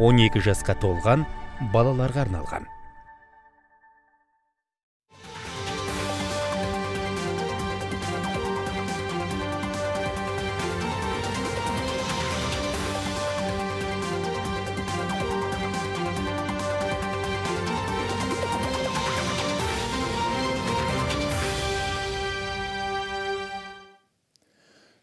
12 жасқа толған балаларға арналған.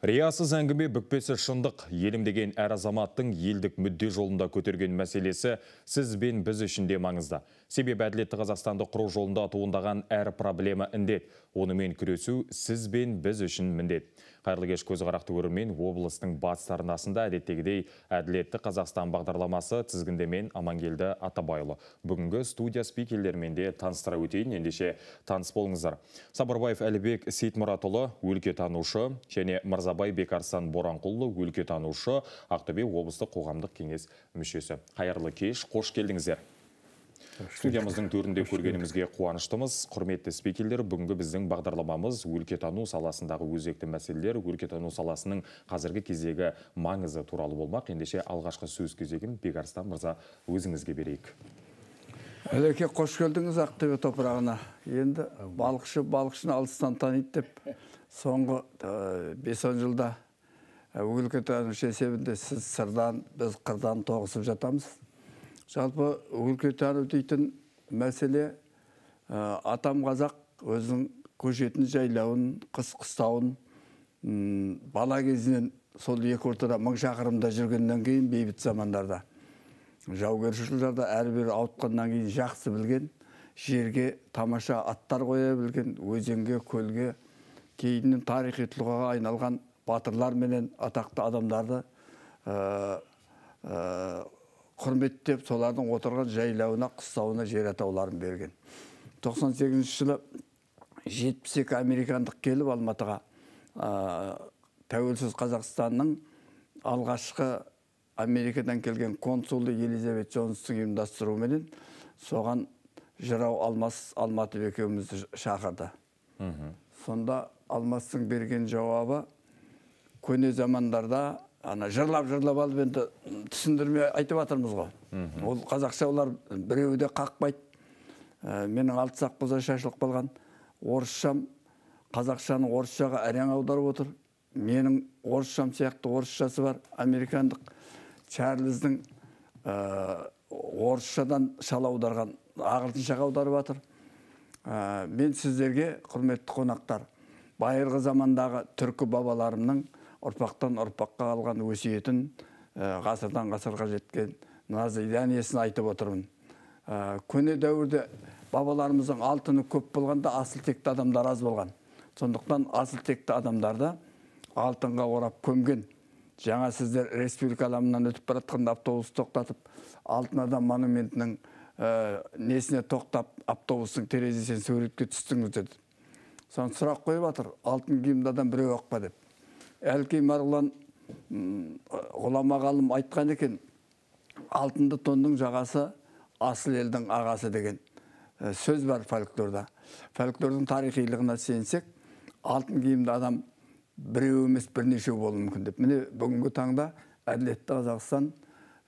Риясыз әңгіме бүкпесі шындық. Елім деген әр азаматтың елдік мүдде жолында көтерген мәселесі сіз бен біз үшін де маңызды. Себебі әділетті Қазақстанды құру жолында туындаған әр проблема індет. Онымен күресу сіз бен біз үшін міндет. Қайырлы кеш көзқарақты көрермен, облыстың батыс арнасында әдеттегідей әділетті Қазақстан бағдарламасы тізгіндемен Амангелді Атабайұлы. Бүгінгі студия спикерлермен де таныстыра өтейін, ендеше таныс болыңыздар. Сапарбаев Әлібек Сейтмұратұлы, өлкетанушы, және Мырзабай Бекарсан Боранқұлы, өлкетанушы, Ақтөбе облыстық қоғамдық кеңес мүшесі. Қайырлы кеш, қош келдіңіздер. Студиямыздың төрінде көргенімізге қуаныштымыз. Құрметті спикерлер, бүгінгі біздің бағдарламамыз өлкетану саласындағы өзекті мәселелер, өлкетану саласының қазіргі кездегі маңызы туралы болмақ. Ендеше алғашқы сөз кезегін Бекарсан мырза өзіңізге берейік. Әлеке, қош келдіңіз Ақтөбе топырағына. Енді балықшыны алыстан таниды деп, соңғы 5-10 жылда өлкетанушы есебінде сіз сырдан, біз қырдан тоғысып жатамыз. Жалпы өлкетану дейтін мәселе атам қазақ өзінің көшетін жайлауын, қыстауын бала кезінен сол екі ортада 1000 шақырымда жүргеннен кейін бейбіт замандарда, жаугершілерді әрбір ауытқаннан кейін жақсы білген, жерге тамаша аттар қоя білген, өзенге, көлге, кейіннен тарихи тұлғаға айналған батырлар менен атақты адамдарды құрметтеп, солардың отырған жайлауына, қыстауына жер атауларын берген. 98 жылы 72 американдық келіп Алматыға тәуелсіз Қазақстанның алғашқы Америкадан келген консулы Елизабет Джонстың ұйымдастыруыменен соған жырау Алматы екеумізді шақырды. Сонда Алмастың берген жауабы көне замандарда жырлап алып енді түсіндірме айтып атырмыз ғой. Ол қазақша олар біреуі де қақпайды. Менің 6 сақ бұза шашылып қалған орысшам, қазақшаны орысшаға әрең аударып отыр. Менің орысшам сияқты орысшасы бар. Американдық Чарльздің орысшадан шала аударған ағылшыншаға аударып атыр. Мен сіздерге, құрметті қонақтар, байырғы замандағы түркі бабаларымның ұрпақтан ұрпаққа алған өсиетін, ғасырдан ғасырға жеткен назиданиясын айтып отырмын. Көне дәуірде бабаларымыздың алтыны көп болғанда асыл текті адамдар аз болған. Сондықтан асыл текті адамдарды алтынға орап көмген. Жаңа сіздер республика аламынан өтіп баратқанда автобус тоқтатып, алтын адам монументінің несіне тоқтап, автобустың терезесінен суретке түстіңіз деді. Соны сұрақ қойып атыр, алтын киімді адам біреу оқпа деп. Әлкей Марғұлан ғұлама ғалым айтқан екен, алтынды тонның жағасы асыл елдің ағасы деген сөз бар фольклорда. Фольклордың тарихилығына сенсек, алтын киімді адам біреу емес бірнешеу болуы мүмкін деп. Міне бүгінгі таңда әділетті Қазақстан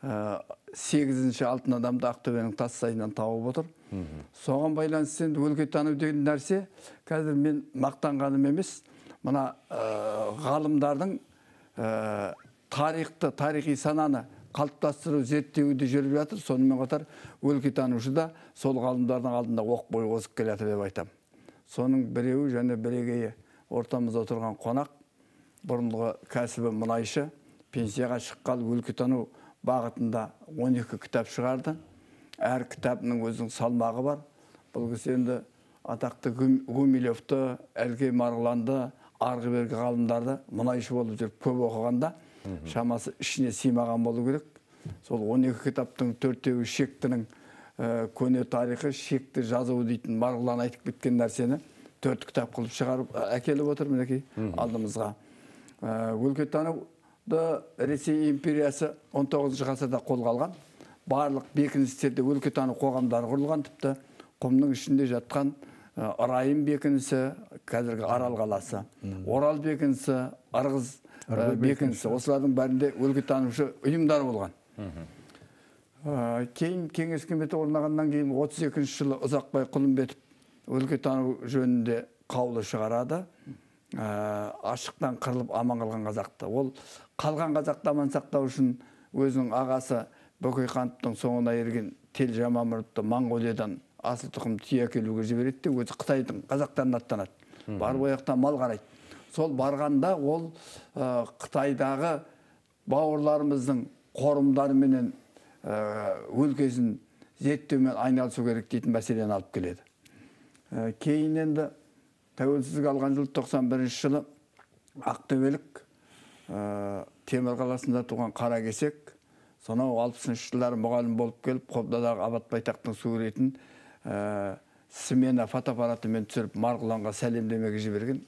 8-ші алтын адамды Ақтөбенің Тассайынан тауып отыр. Соған байланысты енді өлкетану деген нәрсе қазір мен мақтанғаным емес, мына ғалымдардың тарихи сананы қалыптастыру зерттеуді жүріп жатыр. Сонымен қатар өлкетанушы да сол ғалымдардың алдында оқ бойы озып келеді деп айтам. Соның біреуі және бірегейі ортамызда отырған қонақ, бұрынғы кәсібі мұнайшы, пенсияға шыққалы өлкетану бағытында 12 кітап шығарды. Әр кітабының өзінің салмағы бар. Бұл кісі енді атақты Гумилевті, Әлкей Марғұланды, арғы бергі ғалымдарды мұнайшы болып жүріп көп оқығанда шамасы ішіне сыймаған болу керек. Сол 12 кітаптың 4-еуі шектінің көне тарихы, шекті жазуы дейтін Марғұлан айтып кеткен нәрсені 4 кітап қылып шығарып әкеліп отыр мінекей алдымызға. Өлкетануды Ресей империясы 19 ғасырда қолға алған. Барлық бекіністерде өлкетану қоғамдары құрылған, тіпті құмның ішінде жатқан Райым бекінісі, қазіргі Арал қаласы, Орал бекінісі, Ырғыз бекінісі, осылардың бәрінде өлкетанушы ұйымдар болған. Кейін кеңес үкіметі орнағаннан кейін 32 жылы Ұзақбай Құлымбетов өлкетану жөнінде қаулы шығарады. Ашықтан қырылып аман қалған қазақты. Ол қалған қазақты аман сақтау үшін өзінің ағасы Бөкейхановтың соңына ерген Тел Жамамұрытты Моңғолиядан асыл тұқым түйе әкелуге жібереді де, өзі Қытайдың қазақтарына аттанады. Барып ояқтан мал қарайды. Сол барғанда ол Қытайдағы бауырларымыздың қорымдары менен өлкесін зерттеумен айналысу керек дейтін мәселені алып келеді. Кейін енді тәуелсіздік алған жыл 91 жылы Ақтөбелік Темір қаласында туған Қаракесек, сонау 60 жылдары мұғалім болып келіп, Қобдадағы Абат Байтақтың суретін смена фотоаппаратымен түсіріп Марғұланға сәлемдемеге жіберген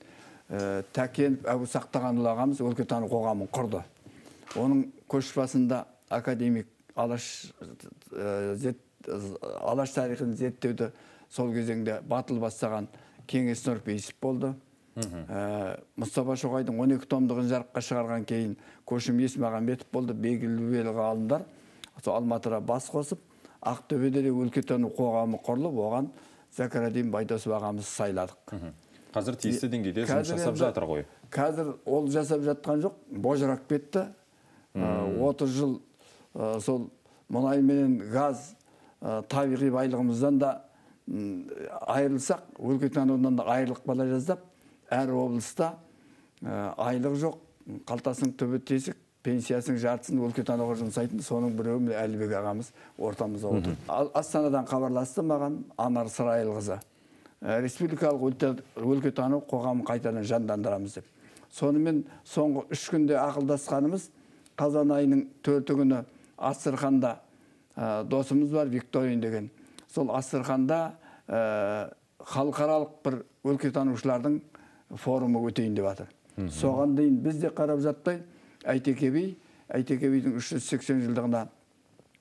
Тәкенов Әбу Сақтағанұлы ағамыз өлкетану қоғамын құрды. Оның көшбасында академик Алаш тарихын зерттеуді сол кезеңде батыл бастаған Кеңес Нұрпейісов болды. Мұстафа Шоқайдың 12 томдығын жарыққа шығарған кейін Көшім Есмағамбетов болды. Белгілі ғалымдар Алматыда бас қосып, Ақтөбеде де өлкетану қоғамы құрылып, оған Зәкірадин Байдосов ағамыз сайладық. Қазір тиісті деңгейде жұмыс жасап жатыр ғой. Қазір ол жасап жатқан жоқ, божырақ кетті. 30 жыл сол мұнай менен газ табиғи байлығымыздан да айырылсақ, өлкетанудан да айырылық бала жаздап, әр облыста айлық жоқ, қалтасының түбі тесік, пенсиясының жартысын өлкетануға жұмсайтын, соның біреуі Әлібек ағамыз ортамызда отыр. Астанадан хабарласты маған Анар Сырайылқызы. Республикалық өлкетану қоғамын қайтадан жандандырамыз деп. Сонымен соңғы 3 күнде ақылдасқанымыз, қазан айының 4 күні Астраханда досымыз бар, Викторин деген. Сол Астраханда халықаралық бір өлкетанушылардың форумы өтейін деп жатыр. Соған дейін біз де қарап жатпай, Әйтеке бидің 380 жылдығына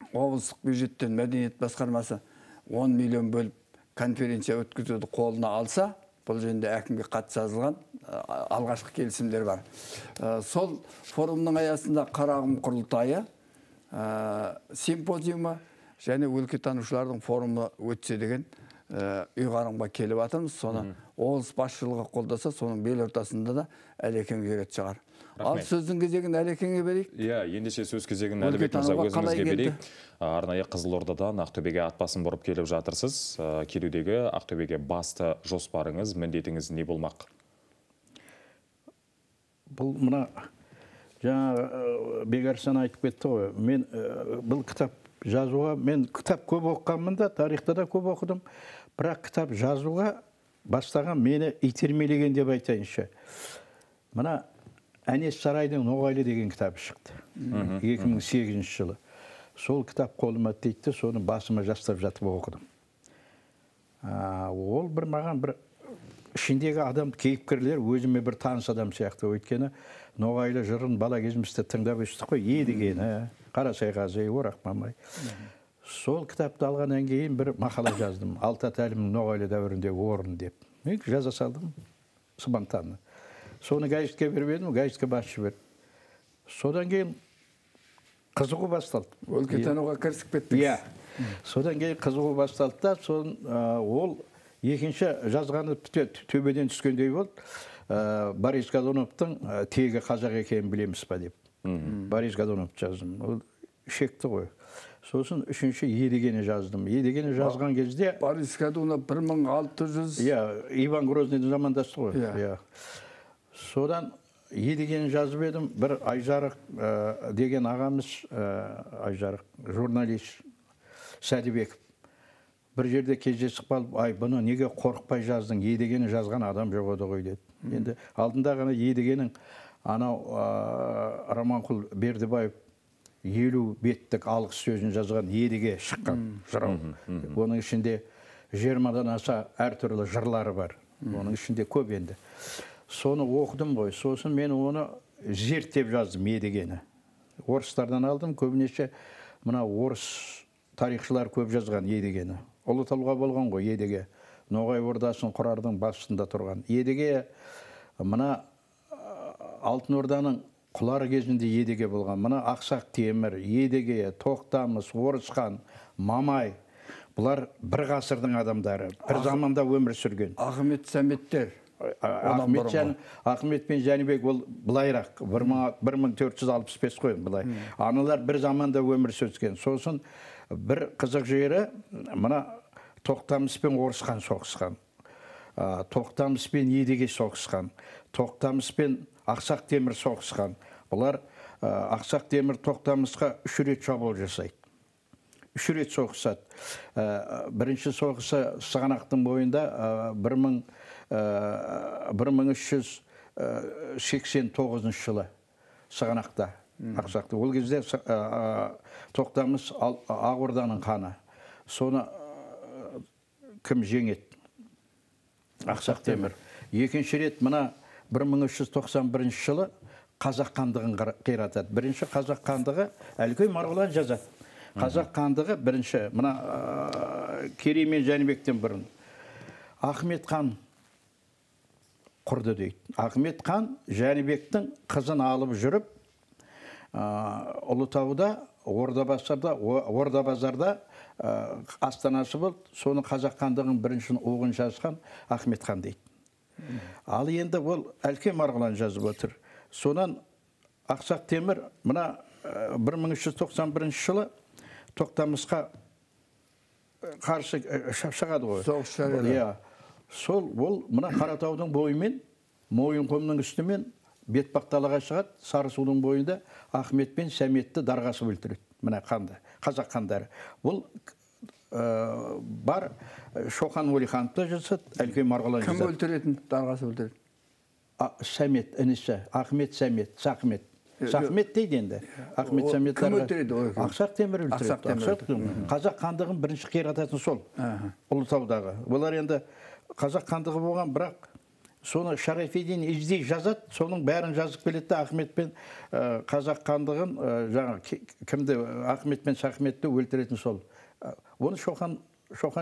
облыстық бюджеттен мәдениет басқармасы 10 миллион бөліп конференция өткізуді қолына алса, бұл жөнінде әкімге хат жазылған алғашқы келісімдер бар. Сол форумның аясында Қарағым құрылтайы, симпозиумы және өлкетанушылардың форумы өтсе деген ұйғарымға келіп жатырмыз. Соны облыс басшылығы қолдаса, соның бел ортасында да Әлекең жүретін шығар. Ал сөздің кезегін Әлекеңе берейік. Ендеше сөз кезегін Әлібек мырза өзіңізге берейік. Арнайы Қызылордадан Ақтөбеге атбасын бұрып келіп жатырсыз. Келудегі Ақтөбеге басты жоспарыңыз, міндетіңіз не болмақ? Бұл мұна жаңа Бекарсан айтып кетті ғой. Мен бұл кітап жазуға, мен кітап көп оқығанмын да, тарихта да көп оқыдым. Бірақ кітап жазуға бастаған мені итермелеген деп айтайыншы. Мұна Әнес Сарайдың Ноғайлы деген кітабы шықты. 2008 жылы. Сол кітап қолыма тиді, соны басыма жастап жатып оқыдым. Ол бір маған бір ішіндегі адам кейіпкерлер өзіме бір таныс адам сияқты. Өйткені Ноғайлы жырын бала кезімізде тыңдап өстік қой, Едігені, Қарасайғазы, Орақ Мамай. Сол кітапты алғаннан кейін бір мақала жаздым. Алта тәлімнің Ноғайлы дәуіріндегі орын деп. Мен жаза салдым спонтанно. Соны газетке бермедім, газетке басшы берді. Содан кейін қызығу басталды. Өлкетануға кірісіп кеттіңіз. Содан кейін қызығу басталды да, ол екінші жазғаны төбеден түскендей болды. Борис Годуновтың тегі қазақ екенін білеміз ба деп. Борис Годуновты жаздым. Ол шекті ғой. Сосын үшінші Едігені жаздым. Едігені жазған кезде... Борис Годунов 1600... Иван Грозныйдың замандасы ғой. Содан Едігені жазып едім. Бір Айжарық деген ағамыз, Айжарық журналист Сәдібеков. Бір жерде кездесіп қалып, бұны неге қорықпай жаздың? Едігені жазған адам жоқ еді ғой деді. Енді алдында ғана Едігенің анау Раманқұл Бердібаев 50 беттік алғыс сөзін жазған Едіге шыққан жырау. Оның ішінде 20-дан аса әртүрлі жырлары бар. Оның ішінде көп енді. Соны оқыдым ғой. Сосын мен оны зерттеп жаздым Едігені. Орыстардан алдым. Көбінесе мына орыс тарихшылар көп жазған Едігені. Ұлытауға болған ғой Едіге. Ноғай ордасын құрардың басында тұрған. Едіге мына Алтын Орданың құлар кезінде едеге болған. Мына Ақсақ Темір, Едеге, Тоқтамыс, Орысхан, Мамай, бұлар бір ғасырдың адамдары, бір заманда өмір сүрген. Ахмет Сәметтер. Ахмет пен Жәнібек ол былайрақ, 1465 қой былай. Аналар бір заманда өмір сүрген. Сосын бір қызық жері, мына Тоқтамыс пен Орысхан соғысқан. Тоқтамыс пен Едеге соғысқан. Тоқтамыс пен Ақсақ Темір соғысқан. Бұлар Ақсақ Темір Тоқтамысқа 3 рет шабуыл жасайды. 3 рет соғысады. Бірінші соғысы Сығанақтың бойында 1389 жылы Сығанақта. Ақсақты. Ол кезде Тоқтамыс Ақ-Орданың ханы. Соны кім жеңеді? Ақсақ Темір. Екінші рет мына 1391 жылы Қазақ хандығын қиратады. Бірінші Қазақ хандығы Әлкей Марғұлан жазады. Қазақ хандығы бірінші, мына Керей мен Жәнібектен бұрын. Ахмет хан құрды дейді. Ахмет хан Жәнібектің қызын алып жүріп, Ұлытауда, Орда-базарда астанасы болды. Соны Қазақ хандығын біріншін оғын жазған Ахмет хан дейді. Ал енді ол Әлкей Марғұлан жазып отыр. Сонан Ақсақ Темір мына 1391 жылы Тоқтамысқа қарсы шығады ғой. Соғыс жариялады. Сол ол мына Қаратаудың бойымен, Мойынқұмның үстімен Бетпақталаға шығады. Сарысудың бойында Ахмет пен Сәметті дарғасы өлтіреді. Мына қанды, қазақ хандары. Бұл бар Шоқан Уәлихановта жасады, Әлкей Марғұлан жасады. Кім өлтіретін, дарғасы өлтіреді? Сәмет, інісі, Ахмет Сәмет, Сақмет. Сақмет дейді енді. Ахмет Сәмет кім өлтіреді? Ақсақ Темір өлтіреді. Қазақ хандығын бірінші қирататын сол, Ұлытаудағы. Олар енді қазақ хандығы болған, бірақ соны Шарафиддин іздей жазады, соның бәрін жазып келеді. Ахмет пен қазақ хандығын, кімді Ахмет пен Сақметті өлтіретін сол. Оны Шоқан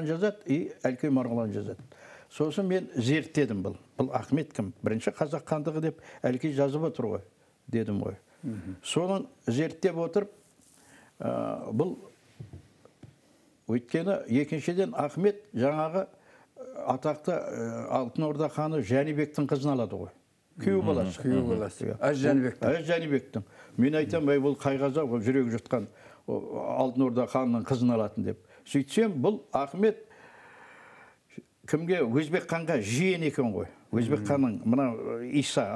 жазады, и Әлкей Марғұлан жазады. Сосын мен зерттедім бұл. Бұл Ахмет кім? Бірінші қазақ хандығы деп Әлкей жазып отыр ғой, дедім ғой. Соның зерттеп отырып, бұл өйткені екіншіден Ахмет жаңағы атақты Алтын Орда ханы Жәнібектің қызын алады ғой. Күйеу баласы. Әз Жәнібектің. Әз Жәнібектің. Мен айтам, бұл қайғаза, бұл жүрегі жұтқан Алтын Орда ханының қызын алатын деп. Сөйтсем, бұл Ахмет кімге? Өзбек ханға жиен екен ғой. Өзбек ханның, мына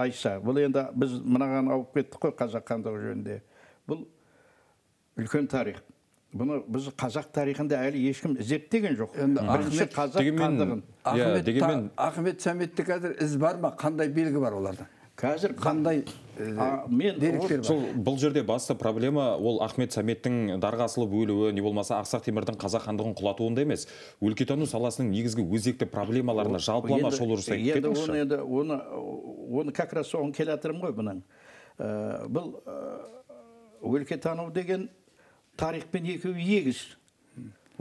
Айса. Бұл енді біз мынаған ауып кеттік қой қазақ хандығы жөнінде. Бұл үлкен тарих. Бұны біз қазақ тарихында әлі ешкім зерттеген жоқ. Бірінші қазақ хандығын. Ахмет Сәметті қазір із бар ма? Қандай белгі бар олардан? Қазір қандай деректер бар? Бұл жерде басты проблема ол Ахмет Сәметтің дарғасылып өлуі, не болмаса Ақсақ Темірдің қазақ хандығын құлатуында емес, өлкетану саласының негізгі өзекті проблемаларына жалпылама шолу жасай кетіңізші. Оны как раз соған келе жатырмын ғой бұның. Бұл өлкетану деген тарихпен екеуі егіз.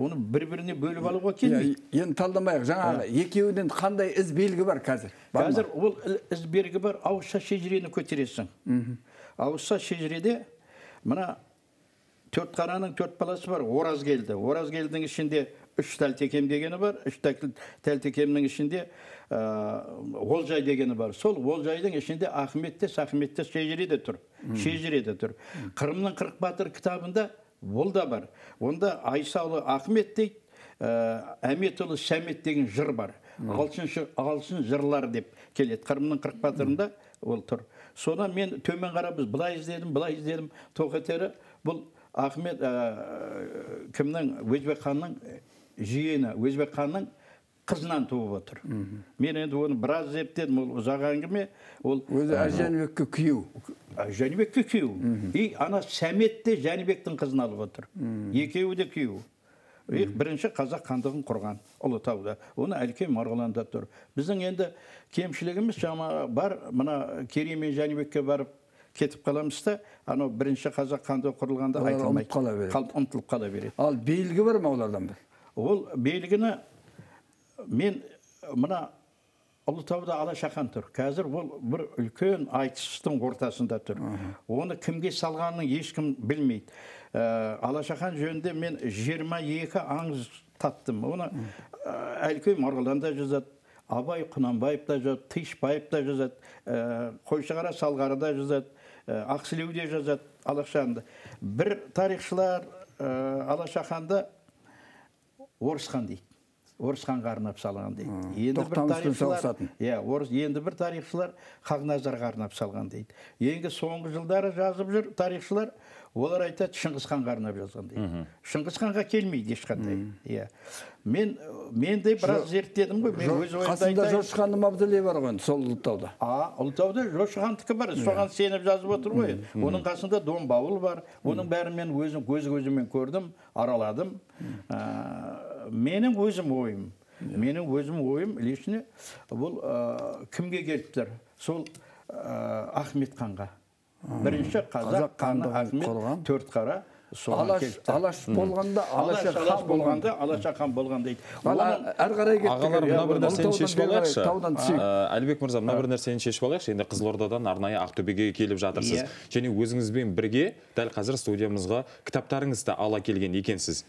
Оны бір-біріне бөліп алуға келмейді. Енді талдамайық, жаңағы екеуінен қандай із белгі бар қазір? Қазір ол із белгі бар, ауызша шежірені көтересің. Ауызша шежіреде мына төрт қараның төрт баласы бар, Оразгелді. Оразгелдің ішінде 3 Тәлтекем дегені бар, 3 Тәлтекемнің ішінде Олжай дегені бар. Сол Олжайдың ішінде Ахметте, Сақметте шежіреде тұр. Қырымның 40 батыр кітабында ол да бар. Онда Айсаулы Ахмет дейді, Әметұлы Сәмет деген жыр бар. Ағылшын жырлар деп келеді. Қырымның 40 батырында ол тұр. Соны мен төмен қарап біз былай іздедім. Тоқетері бұл Ахмет кімнің? Өзбек ханның жиені, Өзбек ханның қызынан туып отыр. Мен енді оны біраз зерттедім, ол ұзақ әңгіме. Өзі Жәнібекке күйеу. Жәнібекке күйеу. И ана Сәмет те Жәнібектің қызын алып отыр. Екеуі де күйеу. Бірінші қазақ хандығын құрған Ұлытауда. Оны Әлкей Марғұланда тұр. Біздің енді кемшілігіміз бар, мына Керей мен Жәнібекке барып кетіп қаламыз да, анау бірінші қазақ хандығы құрылғанда айтылмайды. Ұмытылып қала береді. Ал белгі бар ма олардан бір? Ол белгіні мен мына Ұлытауда Алашахан тұр. Қазір ол бір үлкен айтыстың ортасында тұр. Оны кімге салғанын ешкім білмейді. Алашахан жөнінде мен 22 аңыз таптым. Оны Әлкей Марғұлан да жазады, Абай Құнанбаев та жазады, Тышбаев та жазады, Қойшығара Салғары да жазады, Ақсілеу де жазады Алашаханды. Bir тарихшылар Алашаханды Орысхан дейді. Орысханға арнап салған дейді. Енді бір тарихшылар Хақназарға арнап салған дейді. Енді соңғы жылдары жазып жүр тарихшылар, олар айтады Шыңғысханға арнап жазған дейді. Шыңғысханға келмейді ешқандай. Мен де біраз зерттедім ғой. Қасында Жошықханның мавзолейі бар ғой, сол Ұлытауда. Ұлытауда Жошықхандікі бар, соған сеніп жазып отыр ғой. Оның қасында Дон Бауыл бар. Оның бәрін мен өзім көзімен көрдім, араладым. Менің өзім ойым лишне бұл кімге келіптір? Сол Ахмет ханға. Бірінші қазақ ханы Ахмет Төртқара. Алаш болғанда, Алашахан болған дейді. Әр қарай кеттік. Ағалар, мына бір нәрсені шешіп алайықшы. Әлібек мырза, мына бір нәрсені шешіп алайықшы. Енді Қызылордадан арнайы Ақтөбеге келіп жатырсыз. Және өзіңізбен бірге дәл қазір студиямызға кітаптарыңызды ала келген екенсіз.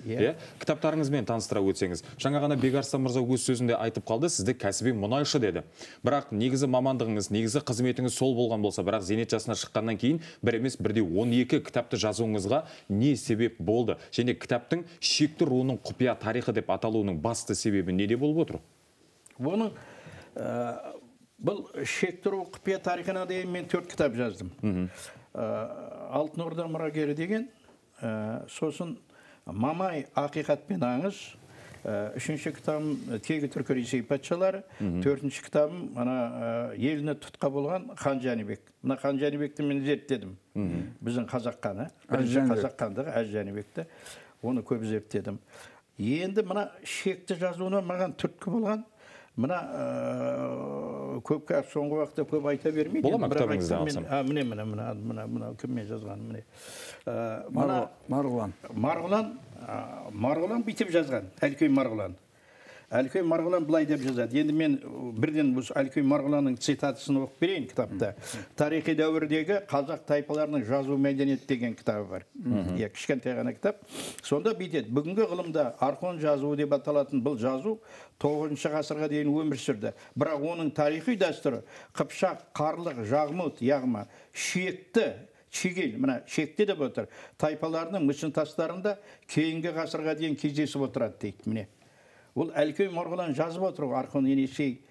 Кітаптарыңызбен таныстыра өтсеңіз. Жаңа ғана Бекарыстан мырза өз сөзінде айтып қалды, сізді кәсіби мұнайшы деді. Бірақ негізі мамандығыңыз, негізі қызметіңіз сол болған болса, бірақ зейнет жасына шыққаннан кейін бір емес бірде 12 кітапты жазуыңызға не себеп болды? Және кітаптың шекті руының құпия тарихы деп аталуының басты себебі неде болып отыр? Оның бұл шекті ру құпия тарихына дейін мен 4 кітап жаздым. Алтын Орда мұрагері деген, сосын Мамай ақиқат пен аңыз, 3-ші кітабым Тегі түркі Ресей патшалары, 4-ші кітабым еліне тұтқа болған Хан Жәнібек. Мына Хан Жәнібекті мен зерттедім. Біздің қазақ ханы, бірінші қазақ хандығы Әз Жәнібекті. Оны көп зерттедім. Енді мына шекті жазуына маған түрткі болған. Мына көпке соңғы уақытта көп айта бермейді. Бола ма кітабыңызды алсам? Міне, кіммен жазған, міне. Марғұлан бүйтіп жазған, Әлкей Марғұлан. Әлкей Марғұлан былай деп жазады. Енді мен бірден Әлкей Марғұланның цитатысын оқып берейін кітапта. Тарихи дәуірдегі қазақ тайпаларының жазу мәдениеті деген кітабы бар. Кішкентай ғана кітап. Сонда бүйтеді. Бүгінгі ғылымда архон жазуы деп аталатын бұл жазу 9-шы ғасырға дейін өмір сүрді. Бірақ оның тарихи дәстүрі Қыпшақ, Қарлық, Жағмұт, яғма, Шекті, Шегел, мына Шекте деп отыр. Тайпаларының мүсін тастарында кейінгі ғасырға дейін кездесіп отырады дейді. Міне. Ол Әлкей Марғұлан жазып отыр, архон енесей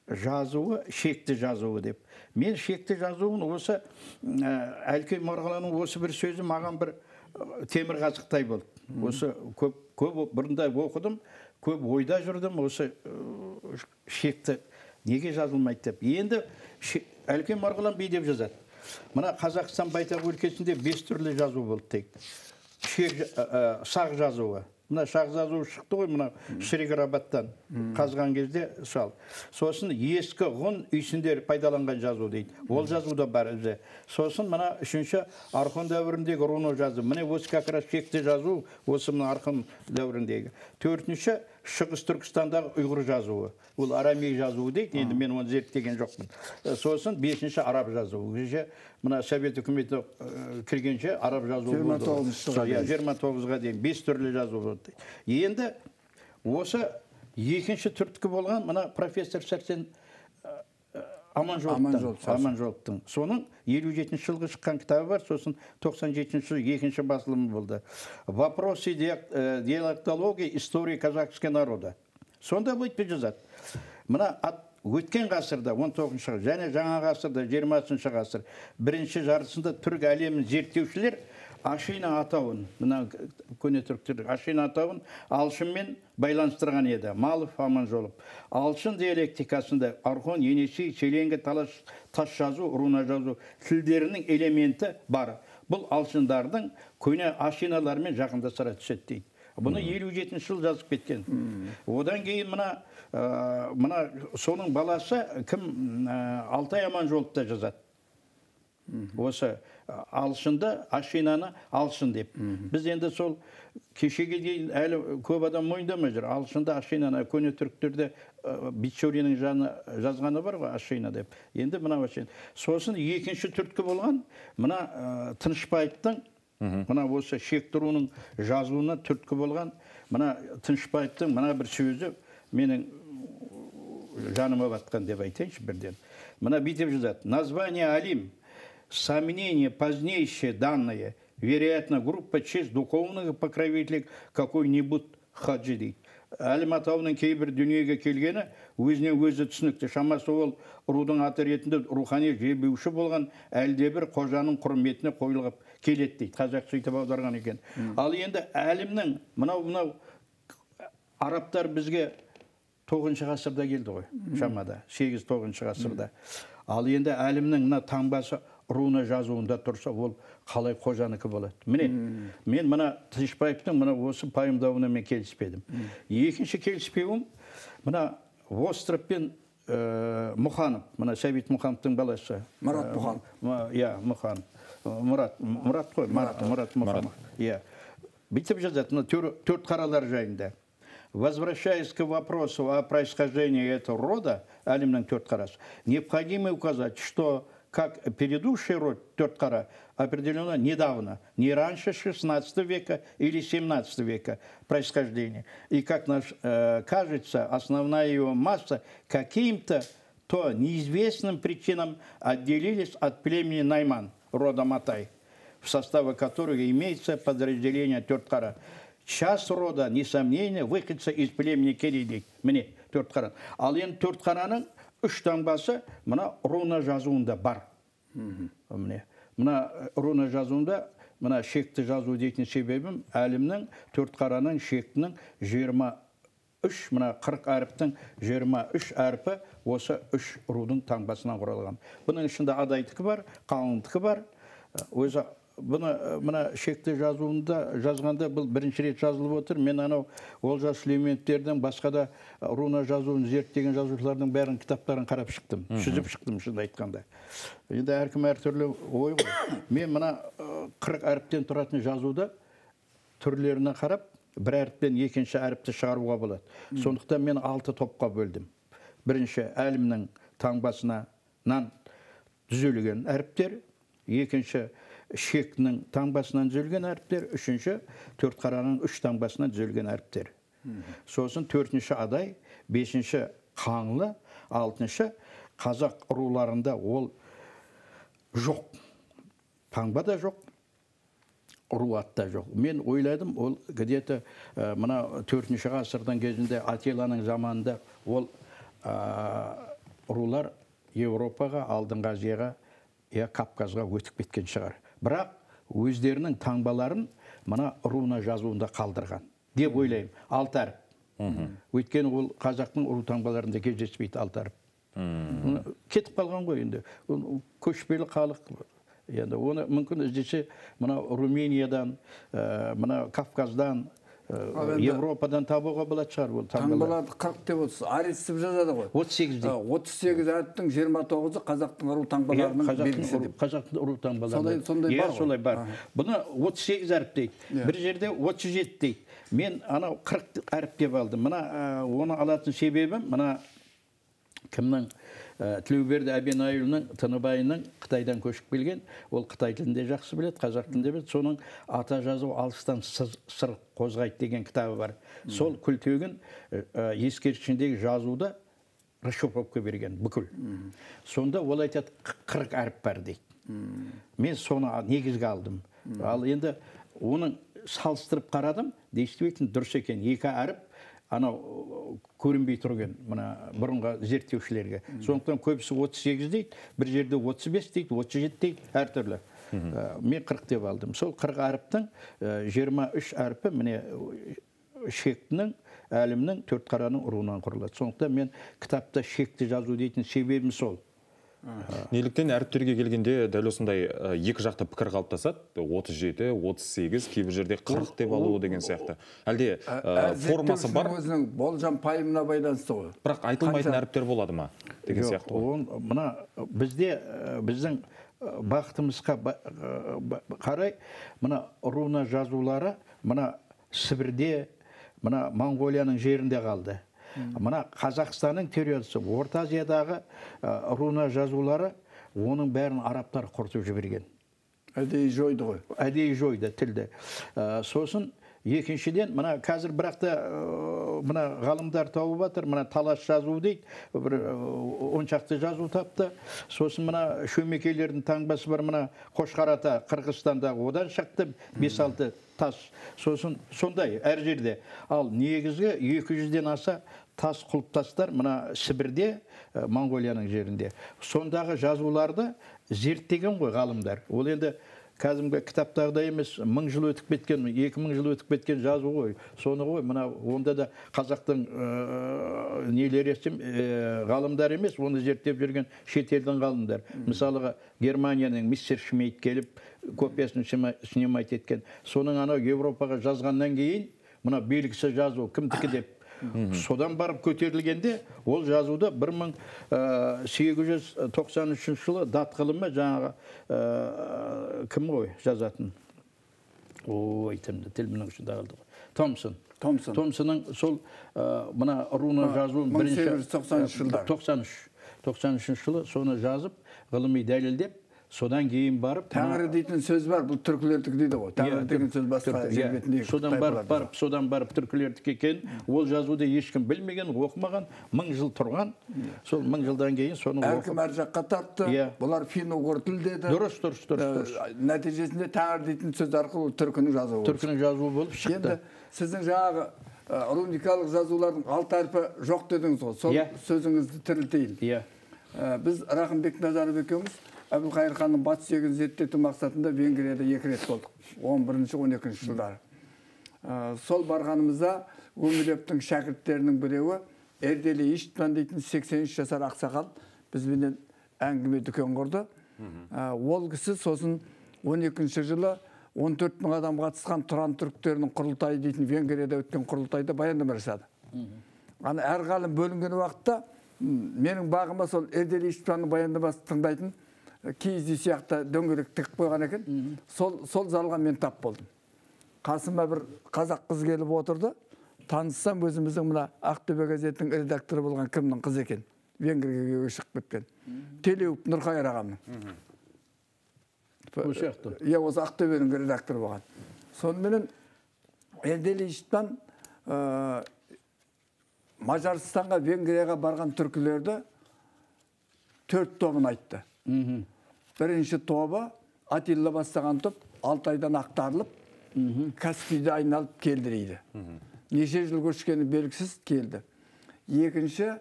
жазуы, шекті жазуы деп. Мен шекті жазуын осы Әлкей Марғұланның осы бір сөзі маған бір темір қазықтай болды. Осы көп бұрында оқыдым, көп ойда жүрдім, осы шекті неге жазылмайды деп. Енді Әлкей Марғұлан бей деп жазады. Мына Қазақстан байтақ өлкесінде 5 түрлі жазу болды дейді. Сақ жазуы. Мына шақ жазуы шықты ғой, мына Шіриграбаттан қазған кезде сал. Сосын ескі ғұн үйсіндер пайдаланған жазу дейді. Ол жазу да бар өзі. Сосын мына 3-ші архон дәуіріндегі руно жазу. Міне осы как раз шекті жазу, осы мына архон дәуіріндегі. 4-ші Шығыс Түркістандағы ұйғыр жазуы. Ол арамей жазуы дейді. Енді мен оны зерттеген жоқпын. Сосын 5-ші араб жазуы. Мына Совет үкіметі кіргенше араб жазуы болды. 29-ға дейін 5 түрлі жазу болды. Енді осы екінші түрткі болған мына профессор Сәрсен Аманжоловтың. Соның 57-ші жылғы шыққан кітабы бар, сосын 97-ші жылы екінші басылымы болды. Вопросы диалектологии истории казахского народа. Сонда бүйтіп жазады. Мына өткен ғасырда, 19-шы және жаңа ғасырда, 20-шы ғасыр, бірінші жартысында түрік әлемін зерттеушілер Ашина атауын, мына көне түріктер Ашина атауын Алшынмен байланыстырған еді. Малов, Аманжолов. Алшын диалектикасында архон, енесей, челенгі, тас жазу, руна жазу тілдерінің элементі бар. Бұл алшындардың көне Ашиналармен жақындастыра түседі дейді. Бұны 57-ші жыл жазып кеткен. Одан кейін мына соның баласы кім Алтай Аманжолов та жазады. Осы алшынды, ашинаны алшын деп. Біз енді сол кешеге дейін әлі көп адам мойындамай жүр. Алшынды, ашинаны, көне түріктерде Бичуриннің жазғаны бар ғой, ашина деп. Енді мына ашин. Сосын екінші түрткі болған, мына Тынышбаевтың, мына осы Шектіруінің жазуына түрткі болған, мына Тынышбаевтың мына бір сөзі менің жаныма батқан деп айтайыншы бірден. Мына бүйтіп жазады. Название Алим, сомнение позднейшие данные, вероятно, группа честь духовных покровителей какой-нибудь хаджи дейді. Әлім атауының кейбір дүниеге келгені өзінен өзі түсінікті. Шамасы ол рудың аты ретінде рухани жебеуші болған әлдебір қожаның құрметіне қойылып келеді дейді. Қазақ сөйтіп аударған екен. Ал енді әлімнің мынау арабтар бізге 9 ғасырда келді ғой, шамада, 8-9 ғасырда. Ал енді әлімнің мына таңбасы руна жазуында тұрса, ол қалай қожаныкі болады. Міне, мен мына Тынышбаевтың мына осы пайымдауына мен келіспедім. Екінші келіспеуім, мына Востров пен Мұханов, мына Сәбит Мұхановтың баласы. Мұрат Мұханов. Иә, Мұханов. Мұрат қой, Мұрат Мұханов. Иә. Бүйтіп жазады, мына төрт қаралар жайында. Возвращаясь к вопросу о происхождении этого рода, Алимның төрт қарасы, необходимо указать, что как предыдущий род Төрткара определено недавно, не раньше 16 века или 17 века происхождения. И, как кажется, основная его масса каким-то то неизвестным причинам отделились от племени Найман, рода Матай, в составе которого имеется подразделение Төрткара. Часть рода, несомненно, выходца из племени Керейдей. Мне Төрткара. Ал енді Төрткараның 3 таңбасы мына руна жазуында бар. Мына руна жазуында, мына шекті жазу дейтін себебім, әлімнің Төрткараның шектінің 23, мына 40 әріптің 23 әріпі осы 3 рудың таңбасынан құралған. Бұның ішінде адайдікі бар, қалыңдікі бар. Өзі мына шекті жазуында жазғанда бұл бірінші рет жазылып отыр. Мен анау Олжас Сүлейменовтердің басқа да руна жазуын зерттеген жазушылардың бәрін кітаптарын қарап шықтым. Сүзіп шықтым шынды айтқанда. Енді әркім әртүрлі ой ғой. Мен мына 40 әріптен тұратын жазуда түрлеріне қарап, бір әріптен екінші әріпті шығаруға болады. Сондықтан мен 6 топқа бөлдім. Бірінші әлімнің таңбасынан түзелген әріптер, екінші шектінің таңбасынан түзелген әріптер, үшінші Төрткараның 3 таңбасынан түзелген әріптер. Сосын 4-ші адай, 5-ші қаңлы, 6-ші қазақ руларында ол жоқ. Таңба да жоқ, руат та жоқ. Мен ойладым, ол где-то мына 4-ші ғасырдан кезінде Атиланың заманында ол рулар Европаға, Алдыңғы Азияға, Кавказға өтіп кеткен шығар. Бірақ өздерінің таңбаларын мына руна жазуында қалдырған деп ойлаймын. 6 әріп. Өйткені ол қазақтың ру таңбаларында кездеспейді 6 әріп. Кетіп қалған ғой енді. Көшпелі халық. Енді оны мүмкін іздесе мына Румениядан, мына Кавказдан, Европадан табуға болады шығар ол таңбалар. Таңбаларды 40 деп отырсыз. Арестіп жазады ғой. 38 дейді. 38 әріптің 29-ы қазақтың ру таңбаларының белгісі деп. Қазақтың ру таңбалары. Сондай бар ғой. Солай бар. Бұны 38 әріп дейді. Бір жерде 37 дейді. Мен анау 40 әріп деп алдым. Мына оны алатын себебім, мына кімнің Тілеуберді Әбенайұлының Тыныбайының Қытайдан көшіп келген, ол Қытай тілінде жақсы біледі, қазақ тілінде біледі. Соның ата жазу алыстан сыр қозғайды деген кітабы бар. Сол күлтегін ескерткішіндегі жазуда расшифровка берген бүкіл. Сонда ол айтады 40 әріп бар дейді. Мен соны негізге алдым. Ал енді оның салыстырып қарадым, действительно дұрыс екен. 2 әріп анау көрінбей тұрген мына бұрынғы зерттеушілерге. Сондықтан көбісі 38 дейді, бір жерде 35 дейді, 37 дейді, әртүрлі. Мен 40 деп алдым. Сол 40 әріптің 23 әріпі міне шектінің, әлімнің, Төрткараның руынан құрылады. Сондықтан мен кітапта шекті жазу дейтін себебім сол. Неліктен әріптерге келгенде дәл осындай екі жақты пікір қалыптасады? 37, 38, кейбір жерде 40 деп алуы деген сияқты. Әлде формасы бар? Өзінің болжам пайымына байланысты ғой. Бірақ айтылмайтын әріптер болады ма? Деген сияқты ғой. Мына бізде біздің бақытымызға қарай мына руна жазулары мына Сібірде, мына Монғолияның жерінде қалды. Мына Қазақстанның территориясы, Орта Азиядағы руна жазулары, оның бәрін арабтар құртып жіберген. Әдейі жойды ғой. Әдейі жойды тілді. Сосын екіншіден, мына қазір бірақта мына ғалымдар тауып жатыр, мына талас жазу дейді, бір 10 шақты жазу тапты. Сосын мына шөмекейлердің таңбасы бар, мына Қошқарата, Қырғызстандағы одан шықты 5-6 тас. Сосын сондай әр жерде. Ал негізгі 200-ден аса тас құлыптастар мына Сібірде, Монғолияның жерінде. Сондағы жазуларды зерттеген ғой ғалымдар. Ол енді кәдімгі кітаптағыдай емес, 1000 жыл өтіп кеткен, 2000 жыл өтіп кеткен жазу ғой. Соны ғой, мына онда да қазақтың нелер ғалымдар емес, оны зерттеп жүрген шетелдің ғалымдар. Мысалыға Германияның мистер Шмейт келіп, копиясын снимать еткен. Соның ана Европаға жазғаннан кейін, мына белгісі жазу, кімдікі деп. Содан барып көтерілгенде, ол жазуды 1893 жылы дат ғылымы жаңағы кім ғой жазатын? Ой, тілімнің ұшында қалды ғой. Томсон. Томсонның сол мына руна жазуын 1893 жылы соны жазып, ғылыми дәлелдеп, содан кейін барып... Тәңірі дейтін сөз бар, бұл түркілердік дейді ғой. Тәңірі деген сөз басқа жербетіндегі. Содан барып түркілердік екен, ол жазуды ешкім білмеген, оқымаған, 1000 жыл тұрған. Сол 1000 жылдан кейін соны оқып... Әркім әр жаққа тартты, бұлар финно-угор тіл деді. Дұрыс. Нәтижесінде тәңір дейтін сөз арқылы түркінің жазуы. Түркінің жазуы болып шықты. Енді сіздің жаңағы руникалық жазулардың 6 әрпі жоқ дедіңіз ғой. Сол сөзіңізді тірілтейін. Біз Рахымбек Назарбек екеуміз Әбілқайыр ханның батыс егін зерттеу мақсатында Венгрияда 2 рет болдық. 11-12 жылдары. Сол барғанымызда Гумилевтің шәкірттерінің біреуі Эрдели Иштван дейтін 83 жасар ақсақал бізбенен әңгіме дүкен құрды. Ол кісі сосын 12 жылы 14 000 адам қатысқан Тұран түріктерінің құрылтайы дейтін Венгрияда өткен құрылтайда баяндама жасады. Ана әр ғалым бөлінген уақытта менің бағыма сол Эрдели Иштванның баяндамасын тыңдайтын киізді сияқты дөңгелек тігіп қойған екен. Сол залға мен тап болдым. Қасыма бір қазақ қыз келіп отырды. Таныссам өзіміздің мына Ақтөбе газетінің редакторы болған кімнің қыз екен. Венгрияға шығып кеткен. Телеуов Нұрқайыр ағамның. Осы Ақтөбенің редакторы болған. Соныменен Эрдели Иштван Мажарстанға, Венгрияға барған түркілерді 4 тобын айтты. Бірінші тобы Атилла бастаған топ 6 айдан ақтарылып, Каспийді айналып келді дейді. Неше жыл көшкені белгісіз келді. Екінші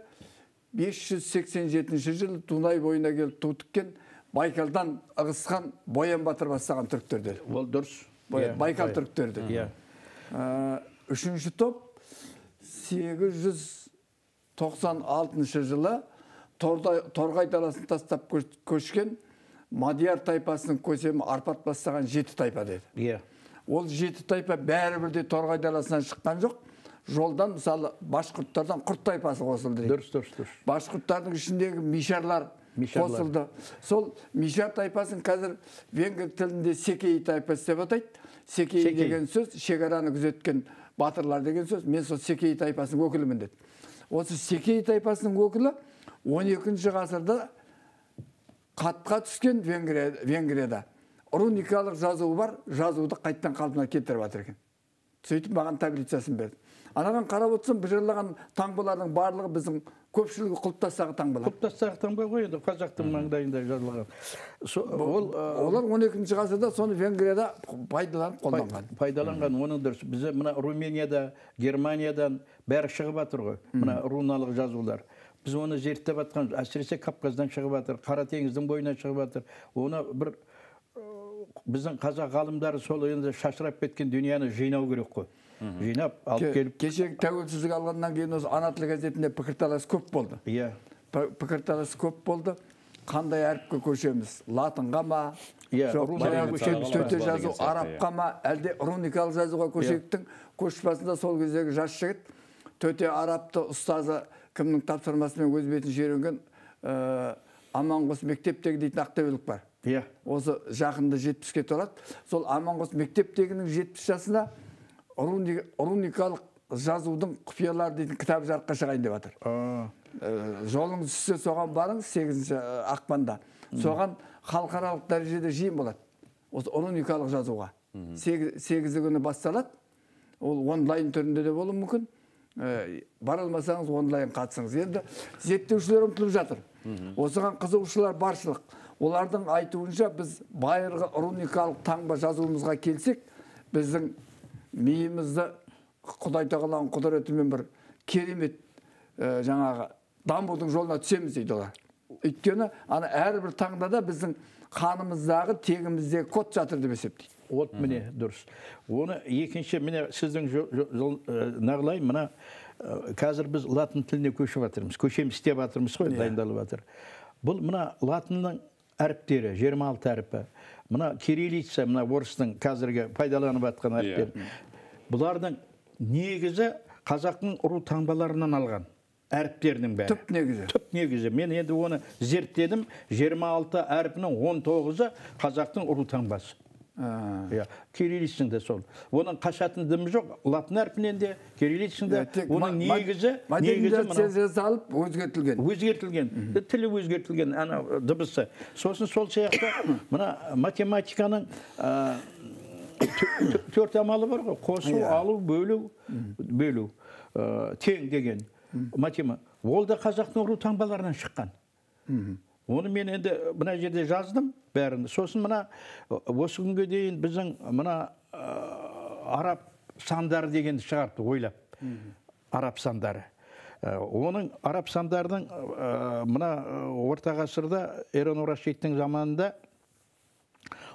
587 жылы Дунай бойына келіп ту тіккен Байкалдан ығысқан Боян Батыр бастаған түріктер деді. Ол дұрыс. Байкал түріктер деді. Үшінші топ 896 жылы Торғай даласын тастап көшкен Мадияр тайпасының көсемі Арпат бастаған 7 тайпа деді. Ол 7 тайпа бәрі бірде Торғай даласынан шыққан жоқ. Жолдан, мысалы, башқұрттардан құрт тайпасы қосылды. Дұрыс. Башқұрттардың ішіндегі мишарлар қосылды. Сол мишар тайпасын қазір венгр тілінде Секей тайпасы деп атайды. Секей деген сөз, шекараны күзеткен батырлар деген сөз. Мен сол Секей тайпасының өкілімін деді. Осы Секей тайпасының өкілі 12-ші ғасырда қатқа түскен Венгрияда руникалық жазуы бар, жазуды қайттан қалпына келтіріп жатыр екен. Сөйтіп маған таблицасын берді. Анаған қарап отырсам, бұжырлаған таңбалардың барлығы біздің көпшілігі құлыптастағы таңбалар. Құлыптастағы таңба ғой, енді қазақтың маңдайында жазылған. Олар 12-ші ғасырда соны Венгрияда пайдаланып қолданған. Пайдаланған, оның дұрыс. Бізде мына Руменияда, Германиядан бәрі шығып жатыр ғой, мына руналық жазулар. Біз оны зерттеп жатқан, әсіресе Кавказдан шығып жатыр, Қара теңіздің бойынан шығып жатыр. Оны бір біздің қазақ ғалымдары сол енді шашырап кеткен дүнияны жинау керек қой. Жинап, алып келіп. Кешегі тәуелсіздік алғаннан кейін осы ана тілі газетінде пікірталас көп болды. Пікірталас көп болды. Қандай әріпке көшеміз? Латынға ма? Төте жазу арабқа ма? Әлде руникалық жазуға көшектің көшбасында сол кездегі жас жігіт төте арабты ұстазы кімнің тапсырмасымен өз бетін жерінген Аманғос мектептегі дейтін ақтөбелік бар. Осы жақында 70-ке толады. Сол Аманғос мектептегінің 70 жасына руникалық жазудың құпиялары дейтін кітап жарыққа шығайын деп жатыр. Жолыңыз түссе соған барыңыз 8 ақпанда. Соған халықаралық дәрежеде жиын болады. Осы руникалық жазуға. 8 күні басталады. Ол онлайн түрінде де болуы мүмкін. Бара алмасаңыз онлайн қатысыңыз. Енді зерттеушілер ұмтылып жатыр. Осыған қызығушылар баршылық. Олардың айтуынша біз байырғы руникалық таңба жазуымызға келсек, біздің миымызды Құдай тағаланың құдіретімен бір керемет жаңағы дамудың жолына түсеміз дейді олар. Өйткені әрбір таңда да біздің қанымыздағы тегіміздегі код жатыр деп есептейді. От міне дұрыс. Оны екінші міне сіздің нағылай мына қазір біз латын тіліне көшіп жатырмыз. Көшеміз істеп жатырмыз ғой, дайындалып жатыр. Бұл мына латынның әріптері 26 әріпі. Мына кириллица, мына орыстың қазіргі пайдаланып жатқан әріптері. Бұлардың негізі қазақтың ұру таңбаларынан алған әріптерінің бәрі. Түп негізі. Түп негізі. Мен енді оны зерттедім. 26 әріпінің 19-ы қазақтың ұру таңбасы. Кириллицың да сол. Оның қашатын дымы жоқ. Латын әрпінен де, кириллицың да. Оның негізі алып өзгертілген. Өзгертілген. Тілі өзгертілген. Дыбысы. Сосын сол сияқты мына математиканың 4 амалы бар ғой. Қосу, алу, бөлу. Тең деген. Ол да қазақтың ұру таңбаларынан шыққан. Оны мен енді мына жерде жаздым бәрін. Сосын мына осы күнге дейін біздің мына араб сандары дегенді шығарды ойлап. Араб сандары. Оның араб сандардың мына орта ғасырда Эрон Рашидтің заманында